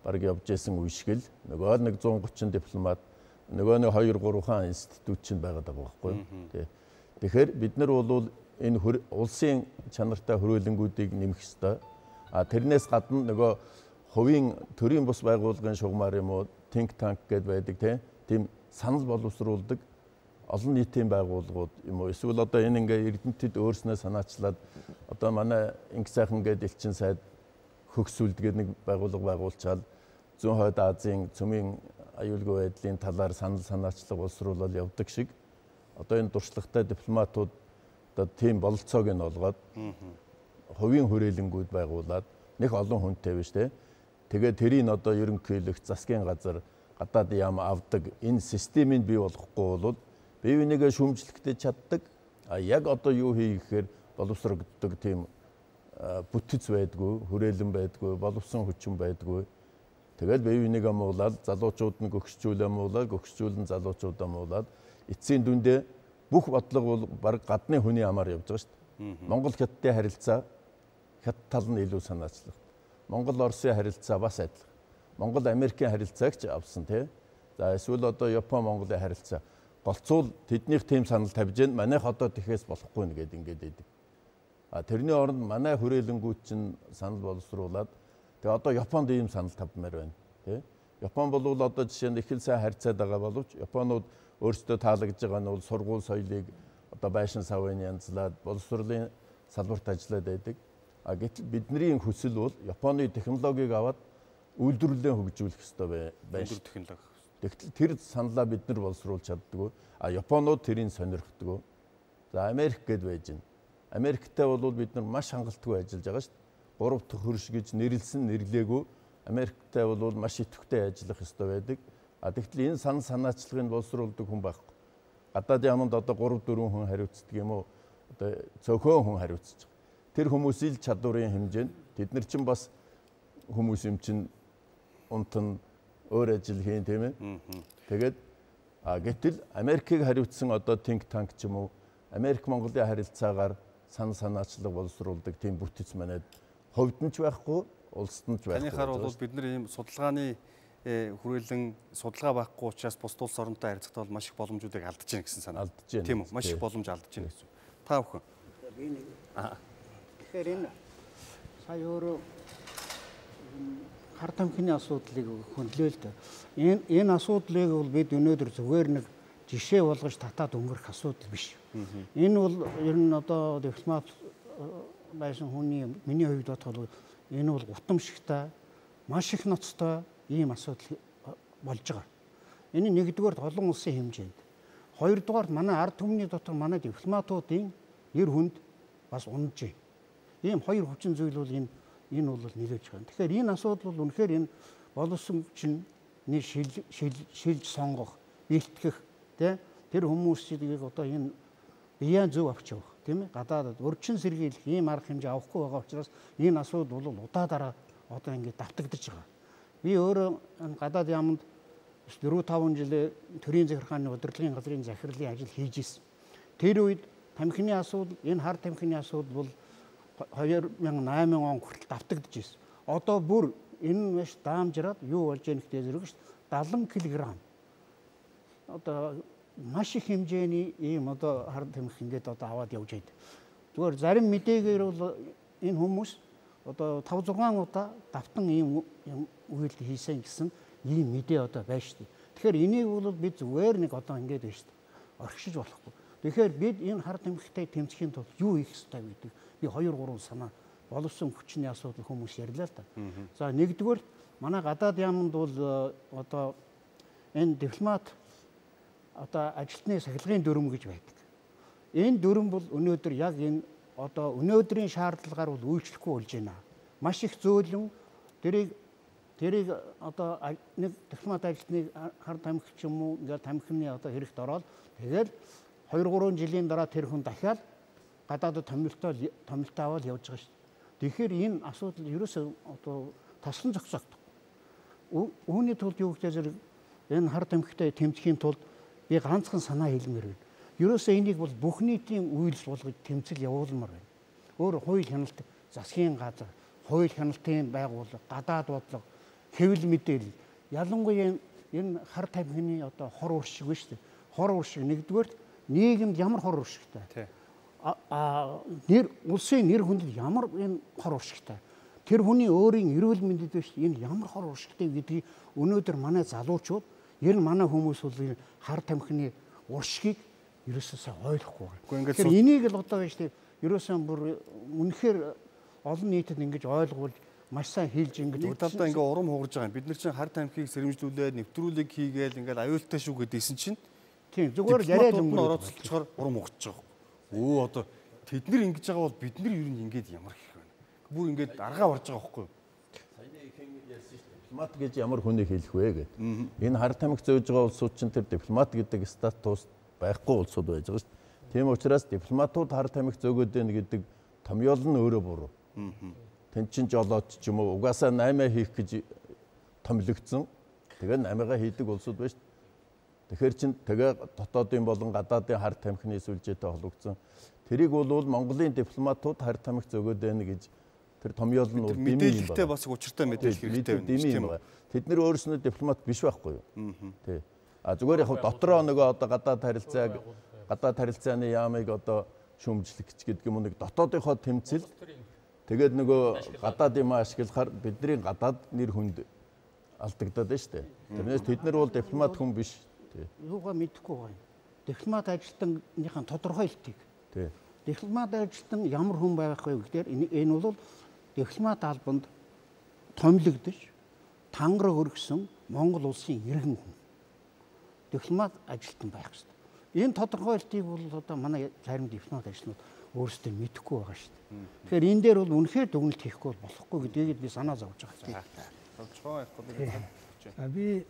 бараг явж исэн үе шиг л нөгөө 130 дипломат нөгөө нэг 2-3 хаан институт чинь байгаад байгаа байхгүй юу? Тэгэхээр бид нар бол энэ улсын чанартай хүрээлэнгүүдийг нэмэх ёстой. Тэрнээс гадна нөгөө хувийн төрийн бус байгууллагын шугамар юм уу, think tank гэдээ байдаг тийм санал боловсруулдаг олон нийтийн байгууллагууд юм уу? Эсвэл одоо энэ ингээ эрдэмтэд өөрснөө санаачлаад одоо манай инх сайхан гэдэг элчин сайд хөгсүүлдэг нэг байгууллага байгуулчаал зүүн хойд Азийн цөмийн аюулгүй байдлын талаар санал санаачлаг боловсруулаад явдаг шиг одоо энэ дуршлагатай дипломатууд одоо тийм бололцоог нь олгоод хувийн хүрээлэнгүүд байгуулад нэг олон хүнтэй биш те. Тэгээ тэрийг одоо ерөнхийлөх засгийн газар гадаад яам авдаг энэ системийг бий болгохгүй бол бие бинийгээ шүүмжлэхдээ чаддаг. Яг одоо юу хий гэхээр боловсрогддог тийм бүтэц байдгүй, хүрээлэн байдгүй, боловсон хүчин байдгүй. Тэгэл бие бинийгээ муулаад залуучууд нь гөгсчүүлээ муулаад, гөгсчүүл нь залуучуудаа муулаад эцсийн дүндээ бүх бодлого бол баг гадны хүний амаар явж байгаа шүү дээ. Монгол Хятадын харилцаа Хятад тал нь илүү санаачлах. Монгол Оросын харилцаа бас адилхан. Монгол Америкийн харилцааг ч авсан тий. За эсвэл одоо Япон Монголын харилцаа голцуул тэднийх тийм санал тавьж гэн манайх одоо тэхээс болохгүй нэгэд ингээд идэг. Тэрний оронд манай хүрээлэнгүүд чинь санал боловсруулад тэгээ одоо Японд ийм санал тавьмаар байна тий. Япон бол одоо жишээ нь их л сайн харьцаад байгаа боловч Японууд өөрсдөө таалагдж байгаа нь бол сургууль соёлыг одоо байшин савын янзлаад боловсруулалтын салбарт ажиллаад байдаг. Гэтэл бидний хүсэл бол Японы технологиг аваад үйлдвэрлэлээ хөгжүүлэх ёстой байна. Технологи. Тэгтэл тэр саналаа бид нар боловсруулж чаддгүй. Японууд тэрийг сонирхдаггүй. За Америк гэд байж байна. Америктэй бол бид нар маш хангалтгүй ажиллаж байгаа шүү дээ. 3 дахь хөрш гэж нэрлсэн нэрлэегүй. Америктэй бол маш идэвхтэй ажиллах ёстой байдаг. Тэгтэл энэ санаачлагыг боловсруулдаг хүн байхгүй. Гадаад яманд одоо 3-4 хүн хариуцдаг юм уу? Одоо цөөхөн хүн хариуцж байгаа. Тэр хүмүүсийн чадварын хэмжээнд тэд нар чинь бас хүмүүс юм чинь унтан өөр ажил хийн тийм ээ. Тэгээд гэтэл Америкийг хариуцсан одоо think tank ч юм уу Америк Монголын харилцаагаар санаачлаг боловсруулдаг тийм бүтэц манайд хувьд нь ч байхгүй, улсад нь ч байхгүй. Танихаар бол бид нар ийм судалгааны хүрээлэн судалгаа байхгүй учраас бусд улс оронтой харьцахдаа бол маш их боломжуудыг алдаж байна гэсэн санаа. Алдаж байна. Тийм үү? Маш их боломж алдаж байна гэсэн. Та бүхэн. Тэгэхээр энэ сая өөрөө хар тамхины асуудлыг хөндлөө л дээ. Энэ асуудлыг бол бид өнөөдөр зүгээр нэг жишээ болгож татаад өнгөрөх асуудал биш. Энэ бол ер нь одоо дипломат байсан хүний миний хувьд бодоход энэ бол гутамшигтай, маш их ноцтой ийм асуудал болж байгаа. Энэ нэгдүгээр олон улсын хэмжээнд. Хоёрдугаар манай ард түмний дотор манай дипломатуудын нэр хүнд бас унаж байна. Ийм хоёр хүчин зүйл бол энэ бол нэлээд байгаа. Тэгэхээр энэ асуудал бол үнэхээр энэ боловсромчин шилж сонгох, бэлтгэх тэр хүмүүсийг одоо энэ биян зөв авч явах тийм ээ. Гадаадд өрчин сэргийлэх ийм арга хэмжээ авахгүй байгаа учраас энэ асуудал бол удаадараа одоо ингээд давтагдаж байгаа. Би өөрөө гадаад яманд 4-5 жилээ төрийн захиргааны удирдлагын газрын захирлын ажил хийж ирсэн. Тэр үед тамхины асуудал, энэ хар тамхины асуудал бол 2008 он хүртэл давтагдж ирсэн. Одоо бүр энэ маш даамжраад юу болж яах гэдэг зэрэг шүү дээ. 70 кг. Одоо маш их хэмжээний ийм одоо хар тамхи ингээд одоо аваад явж байдаг. Зүгээр зарим мэдээгээр бол энэ хүмүүс одоо 5-6 удаа давтан ийм үйлдэл хийсэн гэсэн ийм мэдээ одоо байна шүү дээ. Тэгэхээр энийг бол бид зүгээр нэг одоо ингээд байна шүү дээ. Орхишиж болохгүй. Тэгэхээр бид энэ хар тамхитай тэмцэхийн тулд юу хийх ёстой гэдэг би 2-3 санаа боловсон хүчний асуудал хүмүүс ярьлаа л да. За нэгдүгээр манай гадаад яамд бол одоо энэ дипломат одоо ажилтны сахилгын дүрм гэж байдаг. Энэ дүрм бол өнөөдөр яг энэ одоо өнөөдрийн шаардлагаар бол үйлчлэхгүй болж байна. Маш их зөөлөн тэрийг одоо нэг дипломат ажилтны хар тамхи ч юм уу ингээд тамхины одоо хэрэгт ороод тэгэл 2-3 жилийн дараа тэр хүн дахиад гадаадд томилтоо аваад явж байгаа шүү дээ. Тэгэхээр энэ асуудал ерөөсөө одоо таслан зогсоогдох. Үүний тулд юу гэж зэрэг энэ хар тамхитай тэмцэхийн тулд би ганцхан санаа хэлмээр байна. Ерөөсөө энийг бол бүх нийтийн үйлс болгож тэмцэл явуулмаар байна. Өөр хууль хяналт, засгийн газар, хууль хяналтын байгууллага, гадаад бодлого, хэвлэл мэдээлэл ялангуяа энэ хар тамхины одоо хор уршиг биш үү? Хор уршиг нэгдүгээр нийгэмд ямар хор уршигтай? Улсын нэр хүндэд ямар энэ хор уршигтай? Тэр хүний өөрийн эрүүл мэндэд биш энэ ямар хор уршигтай гэдгийг өнөөдөр манай залуучууд ер нь манай хүмүүс бол хар тамхины уршигыг ерөөсөө ойлгохгүй байна. Тэгэхээр энийг л одоо биш тийм ерөөсөө бүр үнэхээр олон нийтэд ингэж ойлгуул маш сайн хэлж ингэж удаалдаа ингээ урам хугарж байгаа юм. Бид нар чинь хар тамхиг сэрэмжлүүлээд нэвтрүүлэг хийгээл ингээл аюултай шүү гэдээсэн чинь тийм зүгээр яриад орооцолчоор урам хугарч байгаа. Өө одоо тэд нар ингэж байгаа бол бид нар ер нь ингээд ямар их байна. Бүр ингээд аргаа барж байгаа байхгүй юу? Саяны ихэн ярьсан шүү дээ. Дипломат гэж ямар хүнийг хэлэх вэ гэдэг. Энэ хар тамхи зөөж байгаа улсууд чинь тэр дипломат гэдэг статус байхгүй улсууд байж байгаа шүү дээ. Тийм учраас дипломатууд хар тамхи зөөгөөд байна гэдэг томьёол нь өөрөө буруу. Тэн чин жолооч ч юм уу угаасаа 8 хийх гэж томилогдсон. Тэгээд 8-аа хийдэг улсууд байна шүү дээ. Тэгэхээр чин тэгээ дотоодын болон гадаадын хар тамхины сүлжээтэй холбогдсон. Тэрийг бол Монголын дипломатууд хар тамхи зөгөөд байна гэж тэр томьёол нь бол мэдээлэлтэй бас учиртай мэдээлэл хэрэгтэй байна. Тэд нэр өөрснөө дипломат биш байхгүй юу? Тий. Зүгээр яг дотроо нөгөө одоо гадаад харилцааны яамыг одоо шүүмжлэх гэдэг юм уу нэг дотоодынхоо тэмцэл тэгээд нөгөө гадаад юм ашиглахаар бидний гадаад нэр хүнд алдагдаад байна шүү дээ. Тэрнээс тэд нар бол дипломат хүн биш. Юугаа мэдэхгүй байна. Дипломат ажилтныхаа тодорхойлтыг. Дипломат ажилтан ямар хүн байх вэ гэхээр энэ бол дипломат албанд томилогдож тангараг өргөсөн Монгол улсын иргэн хүн. Дипломат ажилтан байх хэрэгтэй. Энэ тодорхойлтыг бол одоо манай зарим дипломат ажилтнууд өөрсдөө мэдэхгүй байгаа шүү дээ. Тэгэхээр энэ дээр бол үнэхээр дүгнэлт хийхгүй болохгүй гэдгийг би санаа зовж байгаа. Би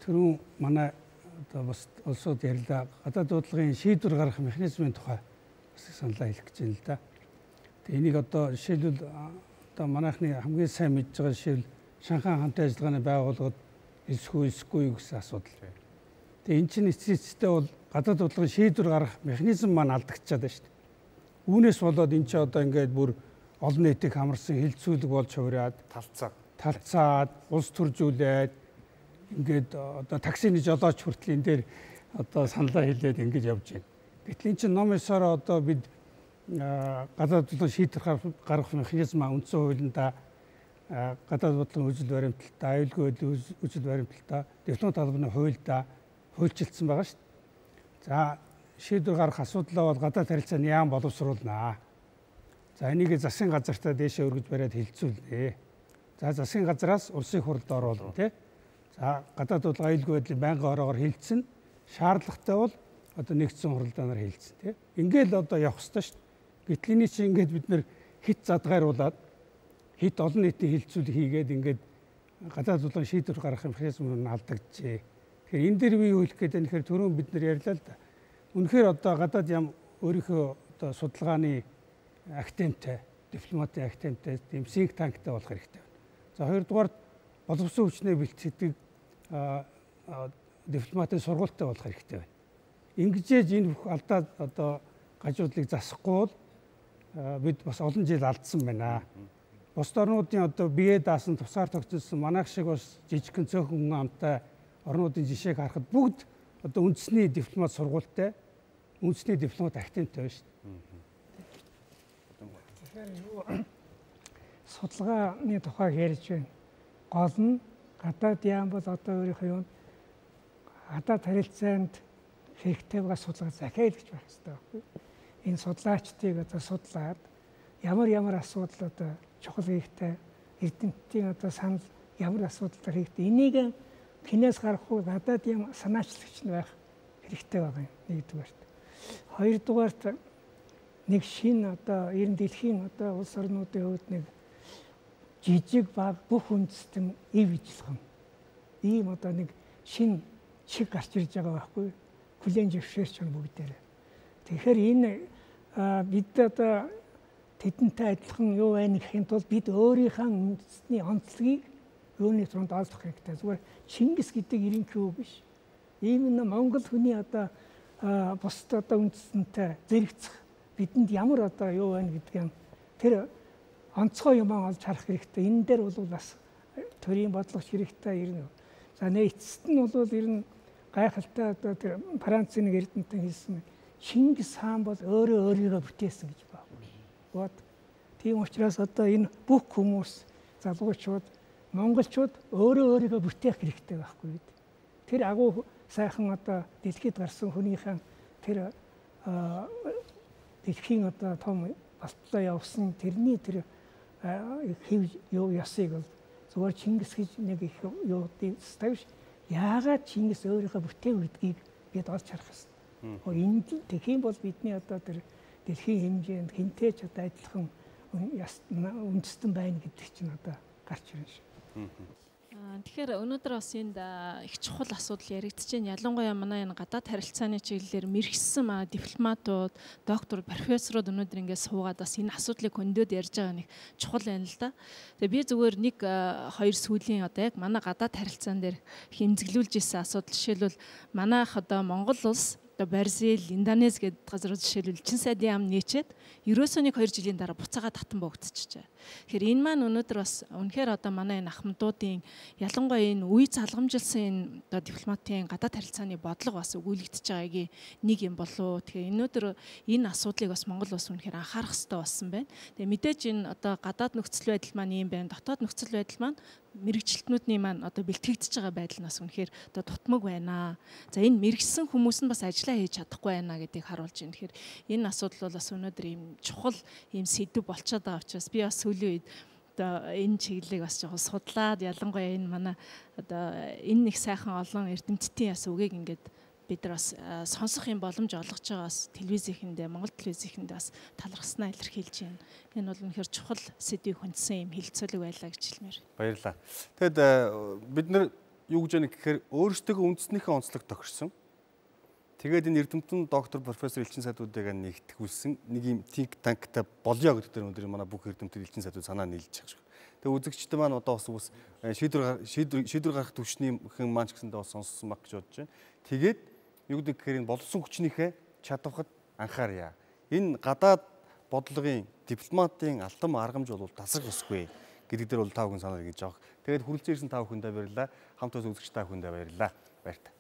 түрүү манай одоо бас улсууд ярьлаа. Гадаад дуудлагын шийдвэр гаргах механизмын тухай бас саналаа хэлэх гэж байна л да. Тэгээ энийг одоо жишээлбэл одоо манайхны хамгийн сайн мэдж байгаа жишээл Шанхай хамтын ажиллагааны байгууллагад эсэхгүй гэсэн асуудал. Тэгээ эн чинь эцсийн бол гадаад дуудлагын шийдвэр гаргах механизм маань алдагдчихад байна шүү дээ. Үүнээс болоод эн чинь одоо ингээд бүр олон нийтийг хамарсан хилцүүлэг болж хувраад талцаад улс төржүүлээд ингээд одоо таксины жолооч хүртэл энэ дээр одоо саналаа хэлээд ингэж явж байна. Гэтэл эн чинь ном ёсоор одоо бид гадаад дуудлага шийдвэр гаргах механизмаа үндсэн хуулиндаа гадаад дуудлагын үжил баримталтаа, аюулгүй байдлын үжил баримталтаа, дипломат албаны хуульдаа хуульчилсан байгаа шүү дээ. За шийдвэр гаргах асуудлаа бол гадаад харилцааны яам боловсруулнаа. За энийг засгийн газартаа дээшээ өргөж бариад хилцүүлнэ. За засгийн газраас улсын хурлд оруулна тий. За гадаад дуудлага аюулгүй байдлын байнгын ороогоор хилцэн шаардлагатай бол одоо нэгдсэн хуралдаанаар хилцэн тий. Ингээл одоо явах ёстой шүү дээ. Гэтэл энэ чинь ингээд бид нэр хит задгааруулад хит олон нийтийн хилцүүлэг хийгээд ингээд гадаад дуудлага шийдвэр гаргах механизм нь алдагджээ. Тэгэхээр энэ дээр би юу хэлэх гээд байна гэхээр түрүүн бид нар ярьлаа л да. Үнэхээр одоо гадаад ям өөрийнхөө одоо судалгааны актемтэй, дипломатын актемтэй, тийм синк танктай болох хэрэгтэй байна. За хоёрдугаар боловсон хүчнээ бэлтгэдэг дипломатын сургуультай болох хэрэгтэй байна. Ингэжээж энэ бүх алдаа одоо гажуудлыг засахгүй бол бид бас олон жил алдсан байна. Бусад орнуудын одоо бие даасан тусгаар тогтсон манайх шиг бас жижигхэн цөөхөн амтай орнуудын жишээг харахад бүгд одоо үндэсний дипломат сургуультай, үндэсний дипломат актемтэй байна шүү дээ. Тэгэхээр судалгааны тухай ярьж байна. Гол нь гадаад яам бол одоо өөрийнхөө юм гадаад харилцаанд хэрэгтэй байгаа судалгаа захиалгч байх хэрэгтэй байхгүй. Энэ судлаачдыг одоо судлаад ямар асуудал одоо чухал хэрэгтэй, эрдэмтдийн одоо санал ямар асуудал хэрэгтэй. Энийг хинээс гарахгүй гадаад юм санаачлагч нь байх хэрэгтэй байгаа юм. Нэгдүгээрт. Хоёрдугаарт нэг шинэ одоо ер нь дэлхийн одоо улс орнуудын хувьд нэг жижиг баг бүх үндэстэн ив ижилхэн. Ийм одоо нэг шинэ чиг гарч ирж байгаа байхгүй. Хүлээн зөвшөөрч байгаа бүгдээрээ. Тэгэхээр энэ бид одоо тэдэнтэй адилхан юу байна гэхийн тулд бид өөрийнхөө үндэсний онцлогийг юуны тунд олдох хэрэгтэй. Зүгээр Чингис гэдэг ерөнхий үг биш. Ийм нэг Монгол хүний одоо бусд одоо үндэстэнтэй зэрэгцэх бидэнд ямар одоо юу байна гэдгийг тэр онцгой юм олж харах хэрэгтэй. Энэ дээр бол бас төрийн бодлогоч хэрэгтэй ирнэ. За эцэст нь бол ер нь гайхалтай одоо тэр Францын нэг эрдэмтэн хэлсэн Чингис хаан бол өөрийгөө бүтээсэн гэж байна. Тийм учраас одоо энэ бүх хүмүүс залуучууд монголчууд өөрийгөө бүтээх хэрэгтэй байхгүй. Тэр агуу сайхан одоо дэлхийд гарсан хүнийхэн тэр дэлхийн одоо том балтлаа явсан тэрний тэр хэв юу ясыг бол зүгээр Чингис гэж нэг их юу ставш яагаад Чингис өөрийнхөө бүтээх гэдгийг бид олж харах хэрэгтэй. Энд тэгхийн бол бидний одоо тэр дэлхийн хэмжээнд хинтээч одоо адилхан үндэстэн байна гэдэг чинь одоо гарч ирнэ шүү. Тэгэхээр өнөөдөр бас энд их чухал асуудал яригдж байна. Ялангуяа манай энэ гадаад харилцааны чиглэлээр мэрэгсэн дипломатууд, доктор, профессорууд өнөөдөр ингээд суугаад бас энэ асуудлыг хөндөд ярьж байгаа нэг чухал байна л да. Тэгээ би зүгээр нэг хоёр сүүлийн одоо яг манай гадаад харилцаан дээр хэмзэглүүлж ирсэн асуудал жишээлбэл манайх одоо Монгол улс Бразил, Индонез гэдэг газрууд жишээлбэл чин сайдын ам нийчээд ерөөсөө 1-2 жилийн дараа буцаага татан богдчихжээ. Тэгэхээр энэ маань өнөөдөр бас үнэхээр одоо манай энэ ахмадуудын ялангуяа энэ үе залгамжилсан энэ одоо дипломатын гадаад харилцааны бодлого бас өгүүлэгдэж байгаагийн нэг юм болов. Тэгэхээр өнөөдөр энэ асуудлыг бас Монгол улс үнэхээр анхаарах хэрэгтэй болсон байна. Тэгээ мэдээж энэ одоо гадаад нөхцөл байдал маань юм байна. Дотоод нөхцөл байдал маань мэрэгчлэтнүүдийн маань одоо бэлтгэгдэж байгаа байдал нь бас үнэхээр одоо дутмаг байна. За энэ мэрэгсэн хүмүүс нь бас ажиллаа хийж чадахгүй байна гэдгийг харуулж байна. Тэгэхээр энэ асуудал бол бас өнөөдөр ийм чухал ийм сэдв болчиход байгаа учраас би бас сүүлийн үед одоо энэ чиглэлийг бас жоохон судлаад ялангуяа энэ манай одоо энэ нэг сайхан олон эрдэмтдийн бас үгийг ингээд бид нар бас сонсох юм боломж олгож байгаа бас телевизийнхэндээ Монгол телевизийнхэндээ бас талархснаа илэрхийлж байна. Энэ бол үнэхээр чухал сэдвийг хүндсэн юм хилцүүлэг байлаа гэж хэлмээр. Баярлалаа. Тэгэд бид нар юу гэж яах гэхээр өөрсдөө үндэснийхээ онцлог тохирсон. Тэгээд энэ эрдэмтэн доктор профессор Элчин Сайдуудыг нэгтгүүлсэн нэг юм think tank-тай болёо гэдэг дээр өнөөдөр манай бүх эрдэмтэд Элчин Сайдууд санаа нийлж байгаа шүү. Тэгээд үзэгчтэй маань одоо бас шийдвэр гаргах төвчнийхэн маань ч гэсэндээ бас сонссон баг гэж бодож байна. Тэгээд юу гэдэг гэхээр энэ болсон хүчнийхээ чадварт анхаарья. Энэ гадаад бодлогын дипломатын алтан аргамж бол тасах ёсгүй гэдэг дээр бол тав хүн санаа нэгж авах. Тэгээд хүрэлцэн ирсэн тав хүндээ баярлалаа. Хамт үзэгч тав хүндээ баярлалаа. Баяртай.